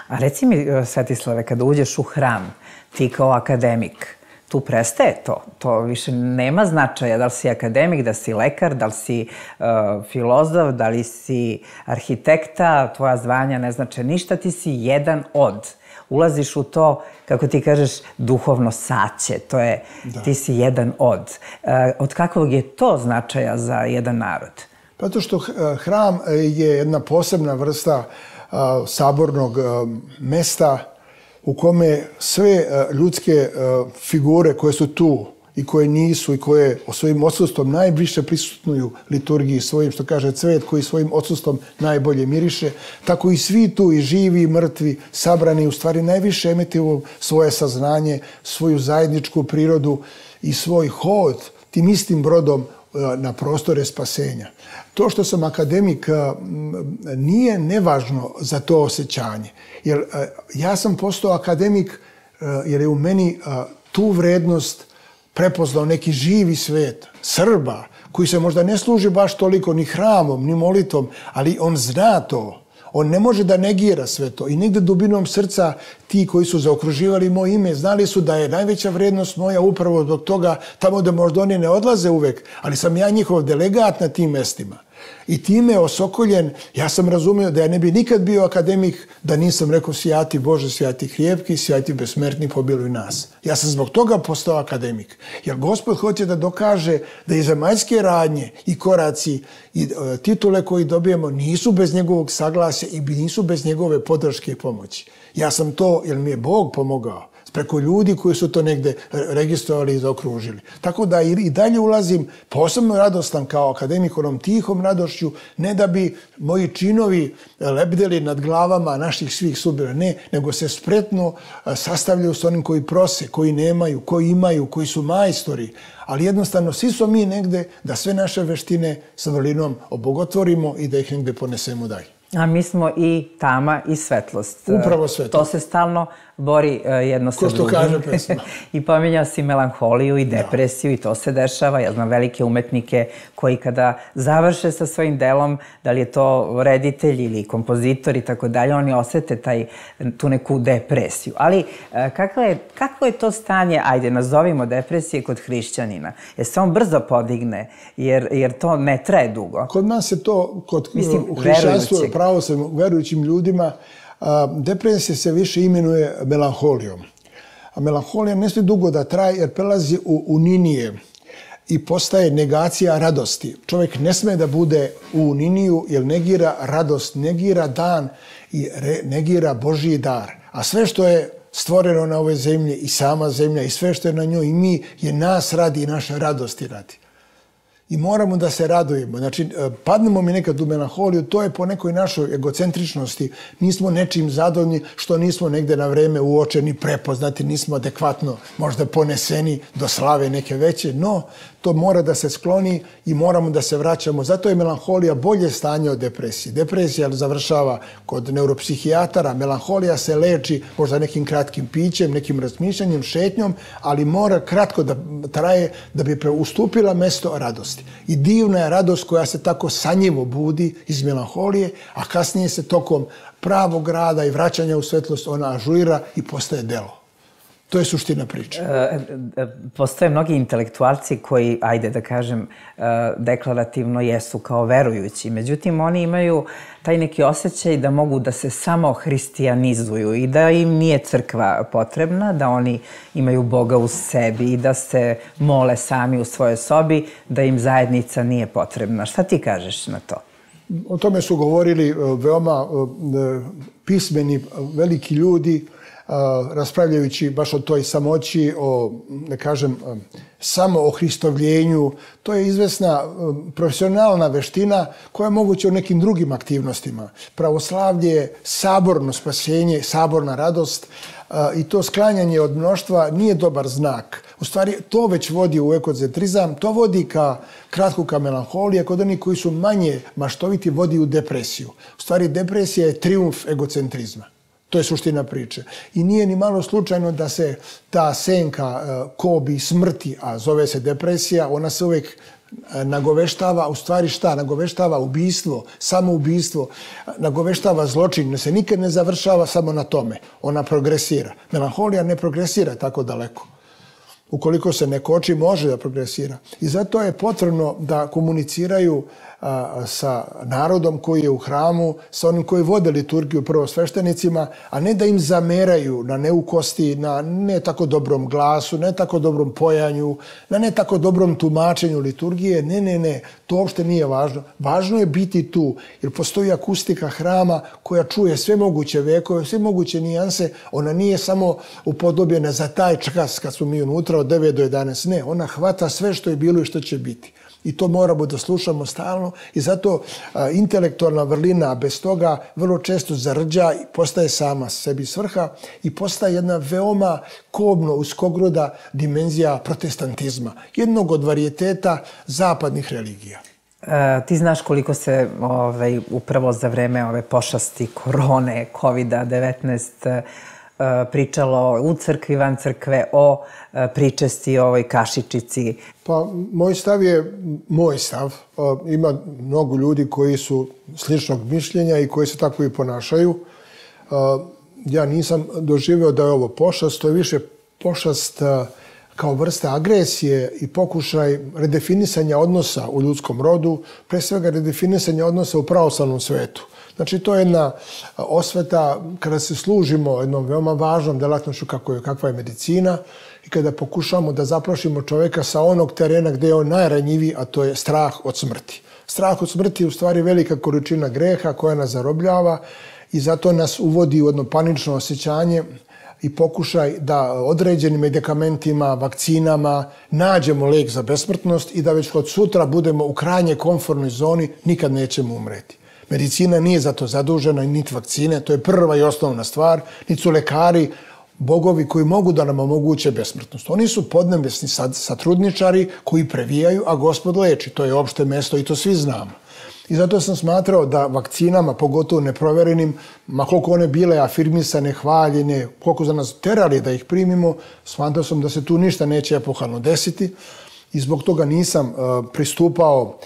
A reci mi, Svetislave, kada uđeš u hram, ti kao akademik, tu prestaje to. To više nema značaja da li si akademik, da si lekar, da li si uh, filozof, da li si arhitekta, tvoja zvanja ne znače ništa, ti si jedan od. Ulaziš u to, kako ti kažeš, duhovno saće, to je, da. Ti si jedan od. Uh, od kakvog je to značaja za jedan narod? Zato što hram je jedna posebna vrsta uh, sabornog uh, mesta u kome sve ljudske figure koje su tu i koje nisu i koje svojim odsustvom najviše prisutnuju liturgiji svojim, što kaže cvet koji svojim odsustvom najbolje miriše, tako i svi tu, i živi i mrtvi, sabrani, u stvari najviše emituju svoje saznanje, svoju zajedničku prirodu i svoj hod tim istim brodom na prostore spasenja. To što sam akademik nije nevažno za to osjećanje. Jer ja sam postao akademik jer je u meni tu vrednost prepoznao neki živi svet Srba koji se možda ne služi baš toliko ni hramom, ni molitvom, ali on zna to. On ne može da negira sve to. I negde dubinom srca ti koji su zaokruživali moje ime znali su da je najveća vrednost moja upravo zbog toga tamo da možda oni ne odlaze uvek, ali sam ja njihov delegat na tim mestima. I time osokoljen, ja sam razumio da ja ne bi nikad bio akademik da nisam rekao sjati Bože, sjati hrijepki, sjati besmrtni, pobiluj nas. Ja sam zbog toga postao akademik. Jer Gospod hoće da dokaže da i zemaljske radnje i koraci i e, titule koji dobijemo nisu bez njegovog saglasja i nisu bez njegove podrške i pomoći. Ja sam to, jer mi je Bog pomogao, preko ljudi koji su to negde registrovali i zaokružili. Tako da i dalje ulazim posebno radostan kao akademik onom tihom radošću, ne da bi moji činovi lebdeli nad glavama naših svih sudbina, ne, nego se spretno sastavljaju s onim koji prose, koji nemaju, koji imaju, koji su majstori. Ali jednostavno svi smo mi negde da sve naše veštine sa vrlinom obogotvorimo i da ih negde ponesemo dalje. A mi smo i tama i svetlost. Upravo svetlost. To se stalno bori jedno sa drugim. Ko što kaže pesma. I pominjao si melanholiju i depresiju, da. I to se dešava. Ja znam velike umetnike koji kada završe sa svojim delom, da li je to reditelj ili kompozitor i tako dalje, oni osete taj, tu neku depresiju. Ali kakvo je, kakvo je to stanje, ajde, nazovimo depresije kod hrišćanina? Jer se on brzo podigne, jer, jer to ne traje dugo. Kod nas je to, kod Mislim, u hrišćanstvu, pravo se verujućim ljudima, depresija se više imenuje melanholijom. A melanholija ne smije dugo da traje jer prelazi u uninije i postaje negacija radosti. Čovjek ne sme da bude u uniniju jer negira radost, negira dan i negira Božji dar. A sve što je stvoreno na ovoj zemlji i sama zemlja i sve što je na njoj i mi je nas radi i naše radosti radi. I moramo da se radujemo. Znači, padnemo mi nekad u melanholiju, to je po nekoj našoj egocentričnosti. Nismo nečim zadovoljni što nismo negde na vreme uočeni, prepoznati, nismo adekvatno možda poneseni do slave neke veće, no to mora da se skloni i moramo da se vraćamo. Zato je melanholija bolje stanje od depresije. Depresija završava kod neuropsihijatara, melanholija se leči možda nekim kratkim pićem, nekim razmišljanjem, šetnjom, ali mora kratko da traje da bi ustupila mesto radosti. I divna je radost koja se tako sanjivo budi iz melanholije, a kasnije se tokom pravog rada i vraćanja u svetlost ona ažurira i postaje delo. To je suština priče. Postoje mnogi intelektualci koji, ajde da kažem, deklarativno jesu kao verujući. Međutim, oni imaju taj neki osjećaj da mogu da se samo hristijanizuju i da im nije crkva potrebna, da oni imaju Boga u sebi i da se mole sami u svojoj sobi, da im zajednica nije potrebna. Šta ti kažeš na to? O tome su govorili veoma pismeni, veliki ljudi, raspravljajući baš o toj samoći, o, da kažem, samo o hristovljenju. To je izvesna profesionalna veština koja je moguća u nekim drugim aktivnostima. Pravoslavlje je saborno spasenje, saborna radost i to sklanjanje od mnoštva nije dobar znak. U stvari, to već vodi u egocentrizam, to vodi ka kratku ka melanholije, kod onih koji su manje maštoviti vodi u depresiju. U stvari, depresija je trijumf egocentrizma. To je suština priče. I nije ni malo slučajno da se ta senka kobi smrti, a zove se depresija, ona se uvijek nagoveštava, u stvari šta? Nagoveštava ubistvo, samoubistvo, nagoveštava zločin, se nikad ne završava samo na tome. Ona progresira. Melanholija ne progresira tako daleko. Ukoliko se ne koči, može da progresira. I zato je potrebno da komuniciraju sa narodom koji je u hramu, sa onim koji vode liturgiju, prvo sveštenicima, a ne da im zameraju na neukosti, na ne tako dobrom glasu, ne tako dobrom pojanju, na ne tako dobrom tumačenju liturgije. Ne, ne, ne, to uopšte nije važno. Važno je biti tu, jer postoji akustika hrama koja čuje sve moguće vekove, sve moguće nijanse. Ona nije samo upodobljena za taj čas kad smo mi unutra od devet do jedanaest. Ne, ona hvata sve što je bilo i što će biti. I to moramo da slušamo stalno i zato a, intelektualna vrlina bez toga vrlo često zarđa i postaje sama sebi svrha i postaje jedna veoma kobno uskogruda dimenzija protestantizma, jednog od varijeteta zapadnih religija. E, ti znaš koliko se ovaj, upravo za vreme ove pošasti korone, kovida devetnaest, pričalo u crkvi, van crkve, o pričesti o ovoj kašičici? Pa, moj stav je moj stav. Ima mnogo ljudi koji su sličnog mišljenja i koji se tako i ponašaju. Ja nisam doživio da je ovo pošast, to je više pošast kao vrsta agresije i pokušaj redefinisanja odnosa u ljudskom rodu, pre svega redefinisanja odnosa u pravoslavnom svetu. Znači, to je jedna osveta kada se služimo jednom veoma važnom delatnošću kakva je medicina i kada pokušamo da zaplašimo čoveka sa onog terena gde je on najranjiviji, a to je strah od smrti. Strah od smrti je u stvari velika količina greha koja nas zarobljava i zato nas uvodi u jedno panično osjećanje i pokušaj da određenim medikamentima, vakcinama nađemo lek za besmrtnost i da već od sutra budemo u krajnje komfortnoj zoni, nikad nećemo umreti. Medicina nije za to zadužena, niti vakcine, to je prva i osnovna stvar, niti su lekari, bogovi koji mogu da nam omoguće besmrtnost. Oni su podnebesni satrudničari koji previjaju, a Gospod leči. To je opšte mesto i to svi znamo. I zato sam smatrao da vakcinama, pogotovo neproverenim, ma koliko one bile afirmisane, hvaljene, koliko za nas terali da ih primimo, smatrao sam da se tu ništa neće epohalno desiti i zbog toga nisam pristupao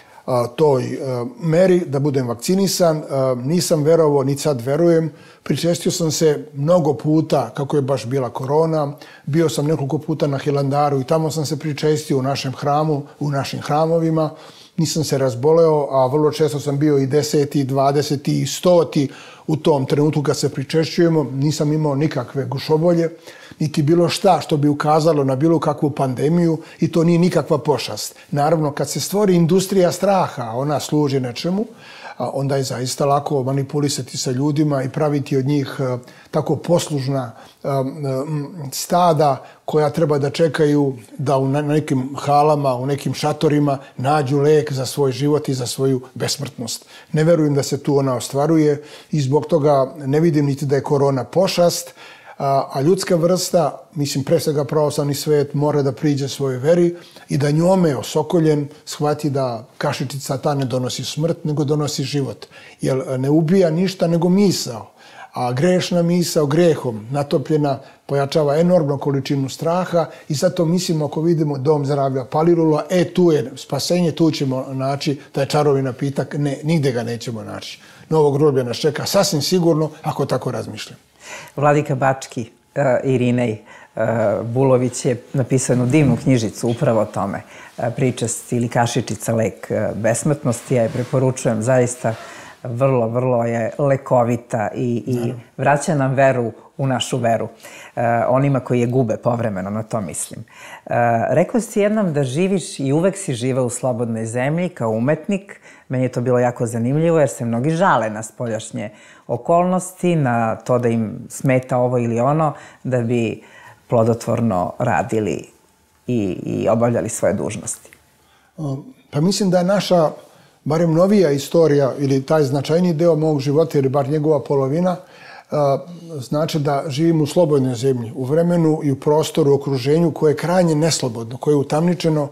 toj meri da budem vakcinisan. Nisam verovao, ni sad verujem. Pričestio sam se mnogo puta, kako je baš bila korona. Bio sam nekoliko puta na Hilandaru i tamo sam se pričestio u našem hramu, u našim hramovima. Nisam se razboleo, a vrlo često sam bio i deseti, dvadeseti i stoti u tom trenutku kad se pričešćujemo. Nisam imao nikakve gušobolje, niti bilo šta što bi ukazalo na bilo kakvu pandemiju i to nije nikakva pošast. Naravno, kad se stvori industrija straha, ona služi nečemu, onda je zaista lako manipulisati sa ljudima i praviti od njih tako poslužna stada koja treba da čekaju da u nekim halama, u nekim šatorima nađu lek za svoj život i za svoju besmrtnost. Ne verujem da se tu ona ostvaruje i zbog toga ne vidim niti da je korona pošast, a ljudska vrsta, mislim pre svega pravoslavni svet, mora da priđe svojoj veri i da njome osokoljen shvati da kašičica ta ne donosi smrt, nego donosi život. Jer ne ubija ništa nego misao. A grešna misao grehom natopljena pojačava enormnu količinu straha i zato mislimo ako vidimo dom zdravlja Palilula, e tu je spasenje, tu ćemo naći taj čarovi napitak. Ne, nigde ga nećemo naći. Novo groblje nas čeka sasvim sigurno ako tako razmišljam. Vladika Bački, Irinej Bulović je napisao jednu divnu knjižicu upravo o tome. Pričast ili kašičica lek besmrtnosti. Ja je preporučujem zaista vrlo, vrlo je lekovita i, i vraća nam veru u našu veru. E, onima koji je gube povremeno, na to mislim. E, rekao si jednom da živiš i uvek si živeo u slobodnoj zemlji kao umetnik. Meni je to bilo jako zanimljivo jer se mnogi žale na spoljašnje okolnosti, na to da im smeta ovo ili ono, da bi plodotvorno radili i, i obavljali svoje dužnosti. Pa mislim da je naša, barem novija istorija ili taj značajniji deo mog života ili bar njegova polovina, znači da živim u slobodnoj zemlji, u vremenu i u prostoru, u okruženju koje je krajnje neslobodno, koje je utamničeno.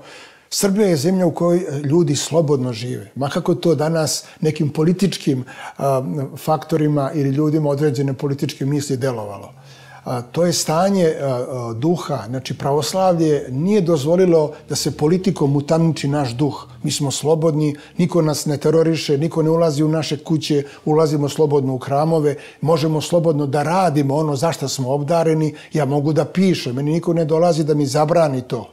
Srbija je zemlja u kojoj ljudi slobodno žive. Ma kako to danas nekim političkim faktorima ili ljudima određene političke misli delovalo. To je stanje duha, znači pravoslavlje nije dozvolilo da se politikom utamniči naš duh. Mi smo slobodni, niko nas ne teroriše, niko ne ulazi u naše kuće, ulazimo slobodno u hramove, možemo slobodno da radimo ono za što smo obdareni, ja mogu da pišem, meni niko ne dolazi da mi zabrani to.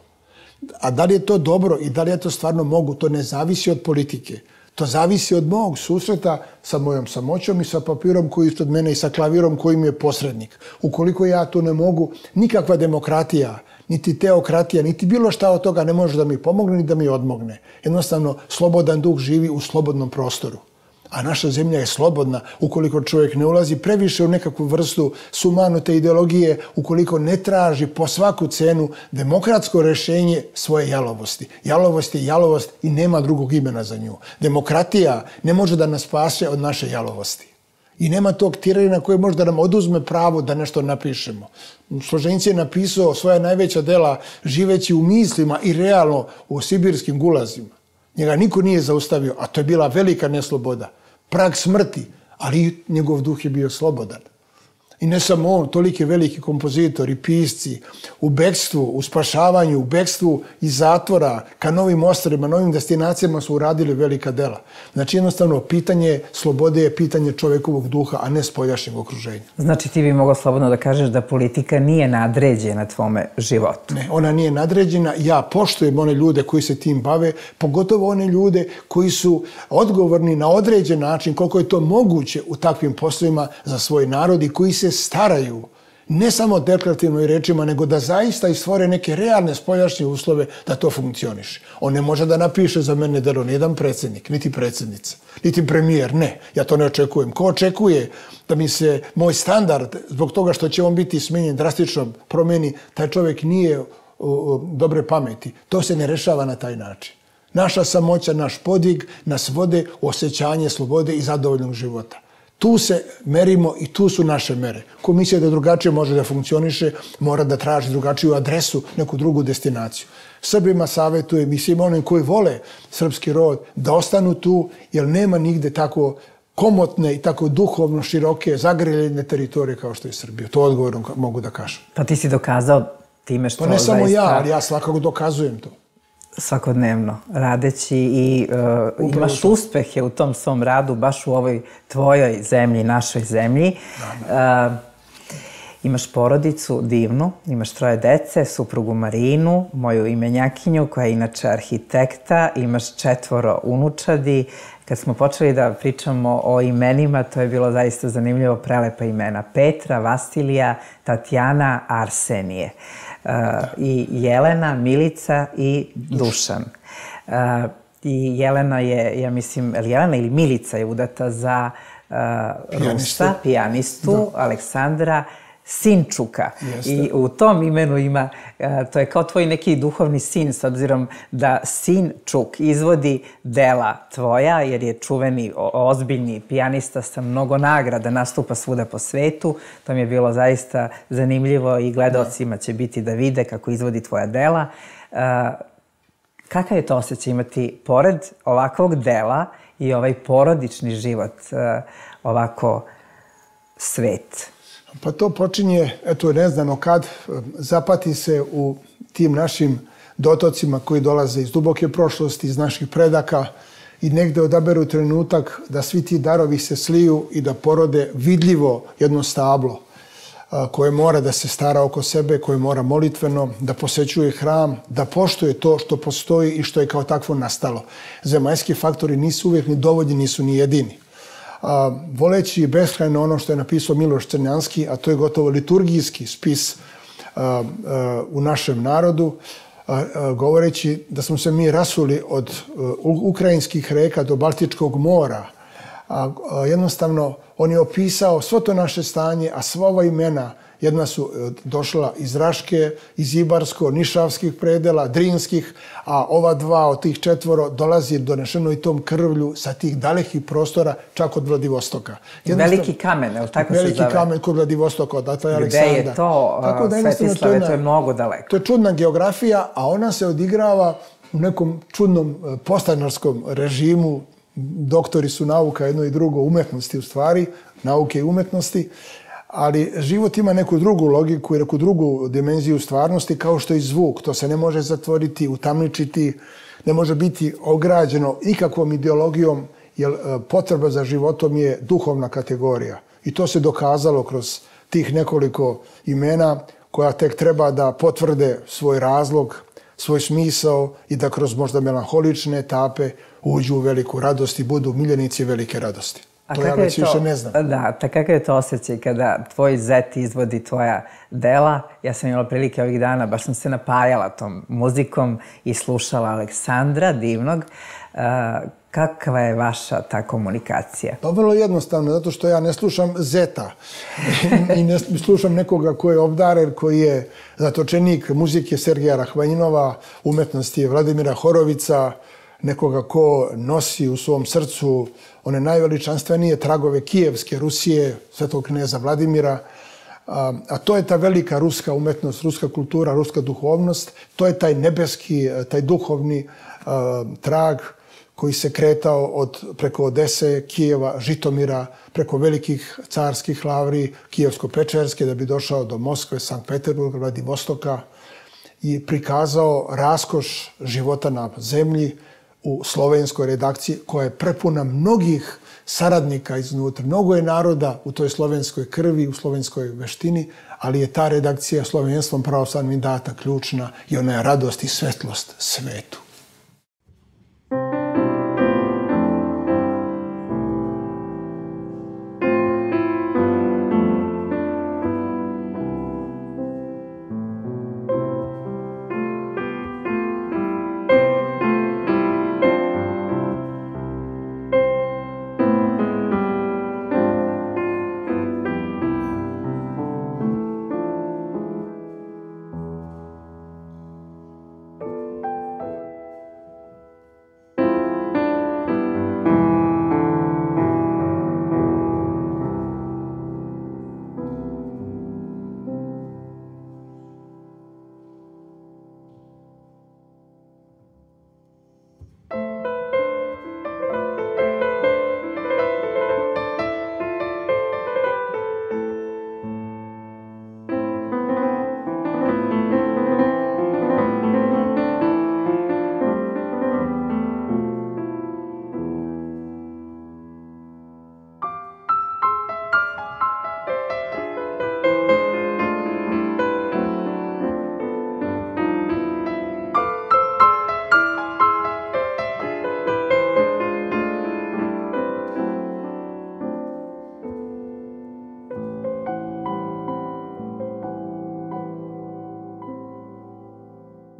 A da li je to dobro i da li ja to stvarno mogu, to ne zavisi od politike. To zavisi od mog susreta sa mojom samoćom i sa papirom koji je ispred mene i sa klavirom koji mi je posrednik. Ukoliko ja to ne mogu, nikakva demokratija, niti teokratija, niti bilo šta od toga ne može da mi pomogne ni da mi odmogne. Jednostavno, slobodan duh živi u slobodnom prostoru. A naša zemlja je slobodna ukoliko čovjek ne ulazi previše u nekakvu vrstu sumanute ideologije, ukoliko ne traži po svaku cenu demokratsko rješenje svoje jalovosti. Jalovost je jalovost i nema drugog imena za nju. Demokratija ne može da nas spase od naše jalovosti. I nema tog tirana koji može da nam oduzme pravo da nešto napišemo. Složenci je napisao svoja najveća dela živeći u mislima i realno u sibirskim gulazima. Njega niko nije zaustavio, a to je bila velika nesloboda. Prag smrti, ali njegov duh je bio slobodan. I ne samo on, toliki veliki kompozitori, pisci, u bekstvu, u spašavanju, u bekstvu iz zatvora, ka novim ostrvima, novim destinacijama su uradili velika dela. Znači jednostavno pitanje slobode je pitanje čovjekovog duha, a ne spoljašnjeg okruženja. Znači ti bi mogao slobodno da kažeš da politika nije nadređena tvome životu? Ne, ona nije nadređena. Ja poštujem one ljude koji se tim bave, pogotovo one ljude koji su odgovorni na određen način, koliko je to moguće u takvim poslovima za svoj narod i koji se staraju ne samo deklarativno i rečima, nego da zaista i stvore neke realne spoljašnje uslove da to funkcioniše. On ne može da napiše za mene delo nijedan predsjednik, niti predsjednica, niti premijer, ne. Ja to ne očekujem. Ko očekuje da mi se moj standard, zbog toga što će on biti smenjen drastično promeni, taj čovjek nije u dobre pameti. To se ne rešava na taj način. Naša samoća, naš podvig nas vode u osjećanje slobode i zadovoljnog života. Tu se merimo i tu su naše mere. Ko misli da drugačije može da funkcioniše, mora da traži drugačiju adresu, neku drugu destinaciju. Srbima savjetujem i svim onim koji vole srpski rod da ostanu tu, jer nema nigde tako komotne i tako duhovno široke zagreljene teritorije kao što je Srbija. To odgovorno mogu da kažem. Pa ti si dokazao time što... Pa ne samo ja, ali ja svakako dokazujem to. Svakodnevno radeći i uh, imaš uspehe u tom svom radu, baš u ovoj tvojoj zemlji, našoj zemlji. Uh, imaš porodicu divnu, imaš troje dece, suprugu Marinu, moju imenjakinju koja je inače arhitekta, imaš četvoro unučadi. Kad smo počeli da pričamo o imenima, to je bilo zaista zanimljivo, prelepa imena. Petra, Vasilija, Tatjana, Arsenije. Uh, i Jelena, Milica i Dušan. Uh, I Jelena je, ja mislim, Jelena ili Milica je udata za uh, Rusa, pijanistu, da. Aleksandra Sinčuka. Jeste. I u tom imenu ima, uh, to je kao tvoj neki duhovni sin, s obzirom da Sinčuk izvodi dela tvoja, jer je čuveni, ozbiljni pijanista sa mnogo nagrada, nastupa svuda po svetu. To mi je bilo zaista zanimljivo i gledaocima će biti da vide kako izvodi tvoja dela. Uh, kakav je to osjećaj imati pored ovakvog dela i ovaj porodični život, uh, ovako svet? Pa to počinje, eto, neznano kad, zapati se u tim našim dotocima koji dolaze iz duboke prošlosti, iz naših predaka i negde odaberu trenutak da svi ti darovi se sliju i da porode vidljivo jedno stablo koje mora da se stara oko sebe, koje mora molitveno, da posećuje hram, da poštuje to što postoji i što je kao takvo nastalo. Zemaljski faktori nisu uvijek ni dovoljni, nisu ni jedini. voleći beskrajno ono što je napisao Miloš Crnjanski, a to je gotovo liturgijski spis u našem narodu, govoreći da smo se mi rasuli od ukrajinskih reka do Baltičkog mora. Jednostavno, on je opisao svo to naše stanje, a sva ova imena jedna su došla iz Raške, iz Ibarsko, Nišavskih predela, Drinskih, a ova dva od tih četvoro dolazi donešeno i tom krvlju sa tih dalekih prostora, čak od Vladivostoka. Veliki kamen, je li tako se zove? Veliki kamen kod Vladivostoka, odatle je Aleksandar. Gde je to, Svetislave, to je mnogo daleko. To je čudna geografija, a ona se odigrava u nekom čudnom postanarskom režimu. Doktori su nauka, jedno i drugo, umetnosti u stvari, nauke i umetnosti, ali život ima neku drugu logiku i neku drugu dimenziju stvarnosti, kao što i zvuk. To se ne može zatvoriti, utamničiti, ne može biti ograđeno ikakvom ideologijom, jer potreba za životom je duhovna kategorija. I to se dokazalo kroz tih nekoliko imena koja tek treba da potvrde svoj razlog, svoj smisao i da kroz možda melanholične etape uđu u veliku radost i budu miljenici velike radosti. To ja već više ne znam. Da, kakav je to osjećaj kada tvoj zet izvodi tvoja dela? Ja sam imala prilike ovih dana, baš sam se napajala tom muzikom i slušala Aleksandra Divnog. Kakva je vaša ta komunikacija? Pa vrlo jednostavno, zato što ja ne slušam zeta i ne slušam nekoga ko je obdaren, koji je zatočenik muzike Sergeja Rahmanjinova, umetnosti Vladimira Horovica, nekoga ko nosi u svom srcu one najveličanstvenije tragove Kijevske Rusije, svetog kneza Vladimira, a to je ta velika ruska umetnost, ruska kultura, ruska duhovnost, to je taj nebeski, taj duhovni trag koji se kretao od, preko Odese, Kijeva, Žitomira, preko velikih carskih lavri, Kijevsko-Pečerske, da bi došao do Moskve, Sankt Peterburga, Vladivostoka i prikazao raskoš života na zemlji u slovenskoj redakciji, koja je prepuna mnogih saradnika iznutra. Mnogo je naroda u toj slovenskoj krvi, u slovenskoj veštini, ali je ta redakcija slovenstvom pravoslavnim data ključna i ona je radost i svetlost svetu.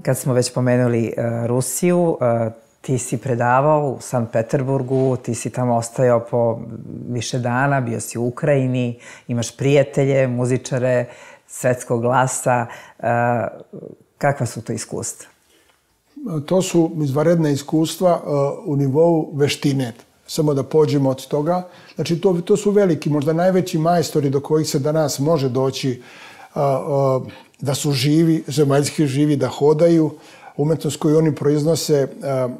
Kad smo već pomenuli Rusiju, ti si predavao u Sankt Peterburgu, ti si tamo ostajao po više dana, bio si u Ukrajini, imaš prijatelje, muzičare, svetskog glasa. Kakva su to iskustva? To su izvanredna iskustva u nivou veštine. Samo da pođemo od toga. Znači, to, to su veliki, možda najveći majstori do kojih se danas može doći, da su živi, zemaljski živi, da hodaju. Umetnost koju oni proiznose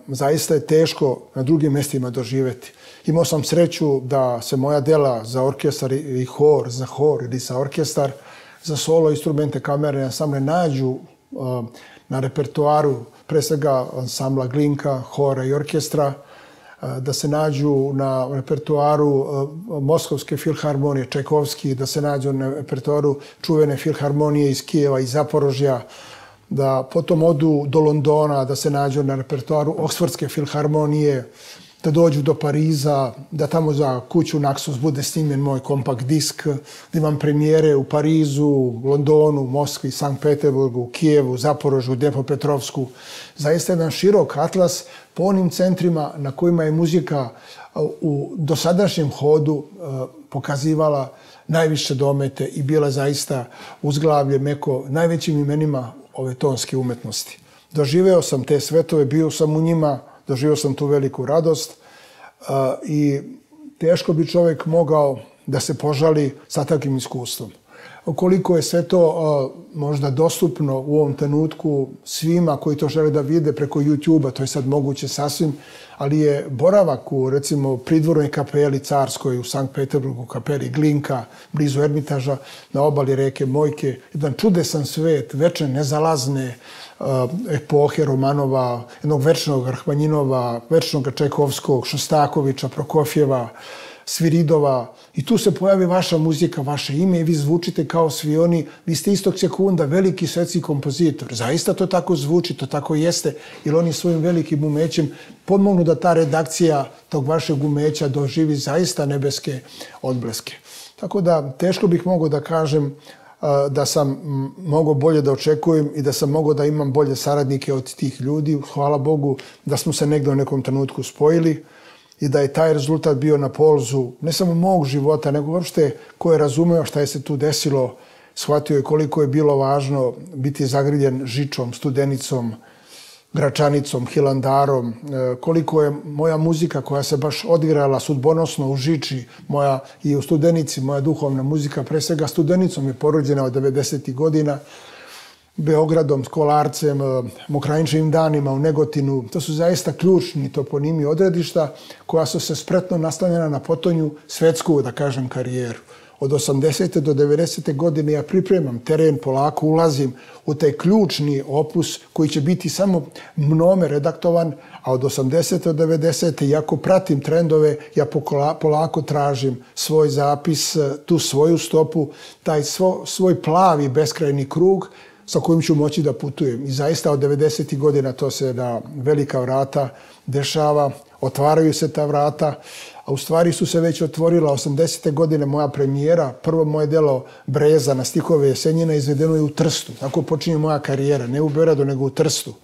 zaista je teško na drugim mjestima doživjeti. Imao sam sreću da se moja dela za orkestar i hor, za hor ili za orkestar, za solo, instrumente, kamere, ansamble nađu na repertoaru pre svega ansambla Glinka, hora i orkestra, da se nađu na repertoaru Moskovske filharmonije, Čajkovski, da se nađu na repertoaru čuvene filharmonije iz Kijeva i Zaporožja, da potom odu do Londona, da se nađu na repertoaru Oksfordske filharmonije, da dođu do Pariza, da tamo za kuću Naxos bude snimljen moj kompakt disk, da imam premijere u Parizu, Londonu, Moskvi, Sankt Peterburgu, Kijevu, Zaporožju, Dnepropetrovsku. Zaista jedan širok atlas po onim centrima na kojima je muzika u dosadašnjem hodu pokazivala najviše domete i bila zaista uzglavlje meko najvećim imenima ove tonske umetnosti. Doživeo sam te svetove, bio sam u njima, doživio sam tu veliku radost i teško bi čovjek mogao da se požali sa takvim iskustvom. Koliko je sve to možda dostupno u ovom trenutku svima koji to žele da vide preko YouTube-a, to je sad moguće sasvim, ali je boravak u, recimo, pridvornoj kapeli carskoj u Sankt Peterburgu, kapeli Glinka, blizu Ermitaža, na obali reke Mojke, jedan čudesan svet, večne nezalazne epohe Romanova, jednog večnog Rahmanjinova, večnog Čajkovskog, Šostakovića, Prokofjeva, Sviridova, i tu se pojavi vaša muzika, vaše ime i vi zvučite kao svi oni, vi ste istog sekunda veliki svetski kompozitor. Zaista to tako zvuči, to tako jeste, jer oni svojim velikim umećem pomognu da ta redakcija tog vašeg umeća doživi zaista nebeske odbleske. Tako da teško bih mogao da kažem da sam mogao bolje da očekujem i da sam mogao da imam bolje saradnike od tih ljudi. Hvala Bogu da smo se negdje u nekom trenutku spojili i da je taj rezultat bio na polzu ne samo mog života, nego uopšte ko je razumeo šta je se tu desilo, shvatio je koliko je bilo važno biti zagriljen Žičom, Studenicom, Gračanicom, Hilandarom, koliko je moja muzika koja se baš odigrala sudbonosno u Žiči, moja i u Studenici, moja duhovna muzika, pre svega Studenicom je porođena od devedesetih godina, Beogradom, Kolarcem, Mokrajinčevim danima u Negotinu. To su zaista ključni toponimi odredišta koja su se spretno nastavljena na potonju svetsku, da kažem, karijeru. Od osamdesete do devedesete godine ja pripremam teren, polako ulazim u taj ključni opus koji će biti samo mnome redaktovan, a od osamdesete do devedesete iako pratim trendove, ja polako tražim svoj zapis, tu svoju stopu, taj svoj plavi beskrajni krug sa kojim ću moći da putujem. I zaista od devedesetih godina to se na velika vrata dešava, otvaraju se ta vrata, a u stvari su se već otvorila osamdesete godine moja premijera, prvo moje delo Breza na stihove Jesenjina izvedeno je u Trstu. Tako počinje moja karijera, ne u Beogradu, nego u Trstu.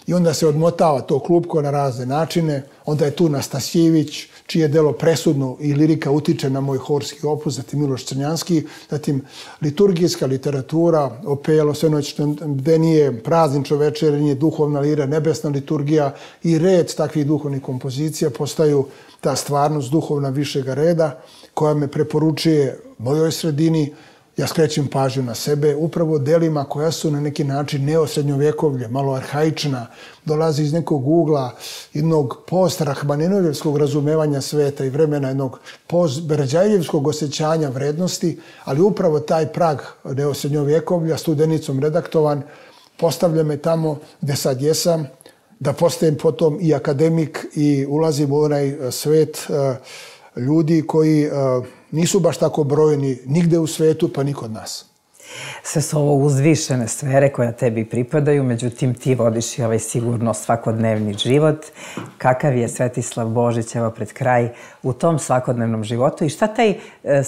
I onda se odmotava to klupko na razne načine, onda je tu Nastasjević, čije delo presudno i lirika utiče na moj horski opus, zatim Miloš Crnjanski, zatim liturgijska literatura, opelo, svenoćne bdenije, praznično večernje, duhovna lira, nebesna liturgija i red takvih duhovnih kompozicija postaju ta stvarnost duhovna višega reda koja me preporučuje mojoj sredini. Ja skrećem pažnju na sebe upravo delima koja su na neki način neosrednjovjekovlje, malo arhaična, dolazi iz nekog ugla, jednog post-rahmaninovljevskog razumevanja sveta i vremena, jednog post-berađajljevskog osjećanja vrednosti, ali upravo taj prag neosrednjovjekovlja, Studenicom redaktovan, postavlja me tamo gde sad jesam, da postajem potom i akademik i ulazim u onaj svet ljudi koji nisu baš tako brojni nigde u svetu, pa ni kod nas. Sve su ovo uzvišene sfere koje tebi pripadaju, međutim ti vodiš i ovaj sigurno svakodnevni život. Kakav je Svetislav Božić, evo pred kraj, u tom svakodnevnom životu i šta taj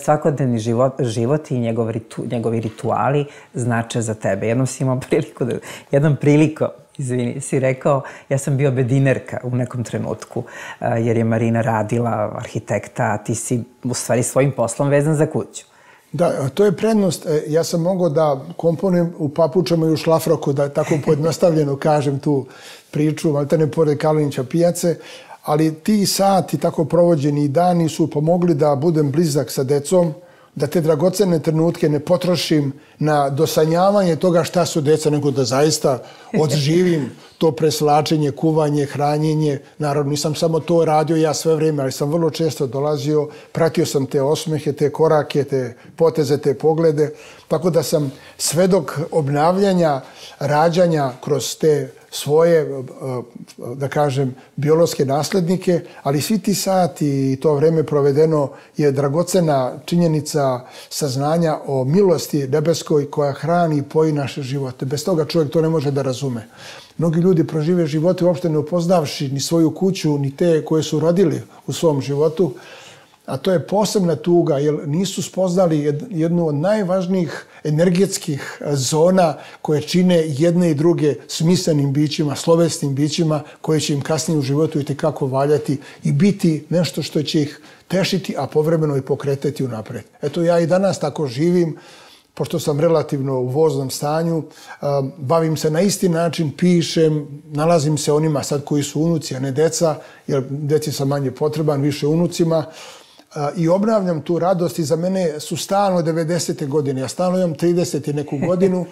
svakodnevni život, život i njegov ritu, njegovi rituali znače za tebe? Jednom si imao priliku, da, jednom prilikom, izvini, si rekao, ja sam bio bedinerka u nekom trenutku, jer je Marina radila arhitekta, a ti si u stvari svojim poslom vezan za kuću. Da, to je prednost. Ja sam mogao da komponujem u papučama i u šlafroku, da tako pojednostavljeno kažem tu priču, maltene pored Kalinića pijace, ali ti sati, tako provođeni dani su pomogli da budem blizak sa decom, da te dragocene trenutke ne potrošim na dosanjavanje toga šta su deca, nego da zaista odživim to preslačenje, kuvanje, hranjenje. Naravno, nisam samo to radio ja sve vreme, ali sam vrlo često dolazio, pratio sam te osmehe, te korake, te poteze, te poglede, tako da sam svedok obnavljanja rađanja kroz te svoje, da kažem, biološke naslednike, ali svi ti sati i to vreme provedeno je dragocena činjenica saznanja o milosti nebeskoj koja hrani i poji naše živote. Bez toga čovjek to ne može da razume. Mnogi ljudi prožive živote uopšte ne upoznavši ni svoju kuću, ni te koje su rodili u svom životu, a to je posebna tuga, jer nisu spoznali jednu od najvažnijih energetskih zona koje čine jedne i druge smislenim bićima, slovesnim bićima, koje će im kasnije u životu itekako valjati i biti nešto što će ih tešiti, a povremeno i pokretati unapred. Eto, ja i danas tako živim, pošto sam relativno u voznom stanju, bavim se na isti način, pišem, nalazim se onima sad koji su unuci, a ne deca, jer deci sam manje potreban, više unucima, i obnavljam tu radost i za mene su stalno devedesete godine. Ja stalno imam trideset i neku godinu,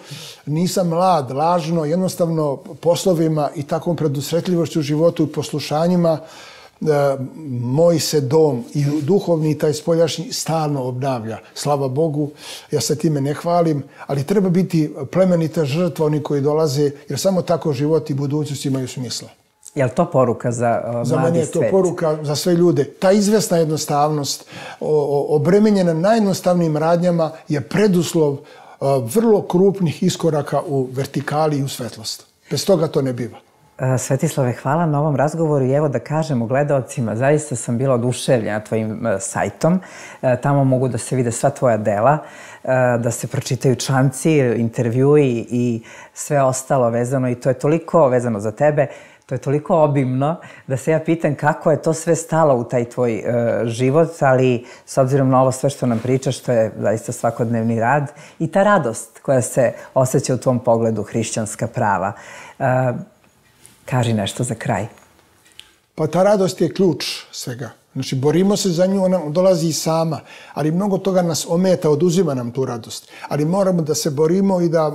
nisam mlad, lažno, jednostavno poslovima i takvom predusretljivošću u životu i poslušanjima moj se dom i duhovni i taj spoljašnji stalno obnavlja. Slava Bogu, ja se time ne hvalim, ali treba biti plemenita žrtva oni koji dolaze, jer samo tako život i budućnost imaju smisla. Je li to poruka za uh, mladi svet? Za mene je to poruka za sve ljude. Ta izvesna jednostavnost, obremenjena najjednostavnijim radnjama, je preduslov uh, vrlo krupnih iskoraka u vertikali i u svetlost. Bez toga to ne biva. Svetislave, hvala na ovom razgovoru i evo da kažemo gledaocima, zaista sam bila oduševljena tvojim sajtom. Tamo mogu da se vide sva tvoja dela, da se pročitaju članci, intervjui i sve ostalo vezano i to je toliko vezano za tebe, to je toliko obimno da se ja pitam kako je to sve stalo u taj tvoj život, ali s obzirom na ovo sve što nam pričaš, to je zaista svakodnevni rad i ta radost koja se osjeća u tvom pogledu, hrišćanska prava. Kaži nešto za kraj. Pa ta radost je ključ svega. Znači, borimo se za nju, ona dolazi i sama, ali mnogo toga nas ometa, oduzima nam tu radost. Ali moramo da se borimo i da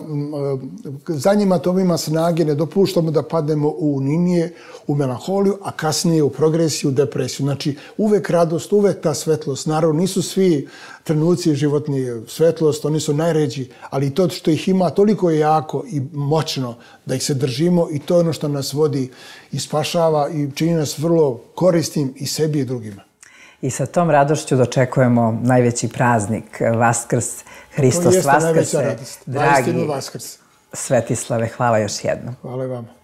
za njima to ima snage, ne dopuštamo da padnemo u uninije, u melanholiju, a kasnije u progresiju, u depresiju. Znači, uvek radost, uvek ta svetlost. Naravno, nisu svi trenuci životni svetlost, oni su najređi, ali to što ih ima toliko je jako i moćno da ih se držimo i to je ono što nas vodi i spašava i čini nas vrlo korisnim i sebi i drugima. I sa tom radošću dočekujemo najveći praznik, Vaskrs, Hristos Vaskrse. To jeste najveća radost. Dragi Svetislave, hvala još jednom. Hvala vam.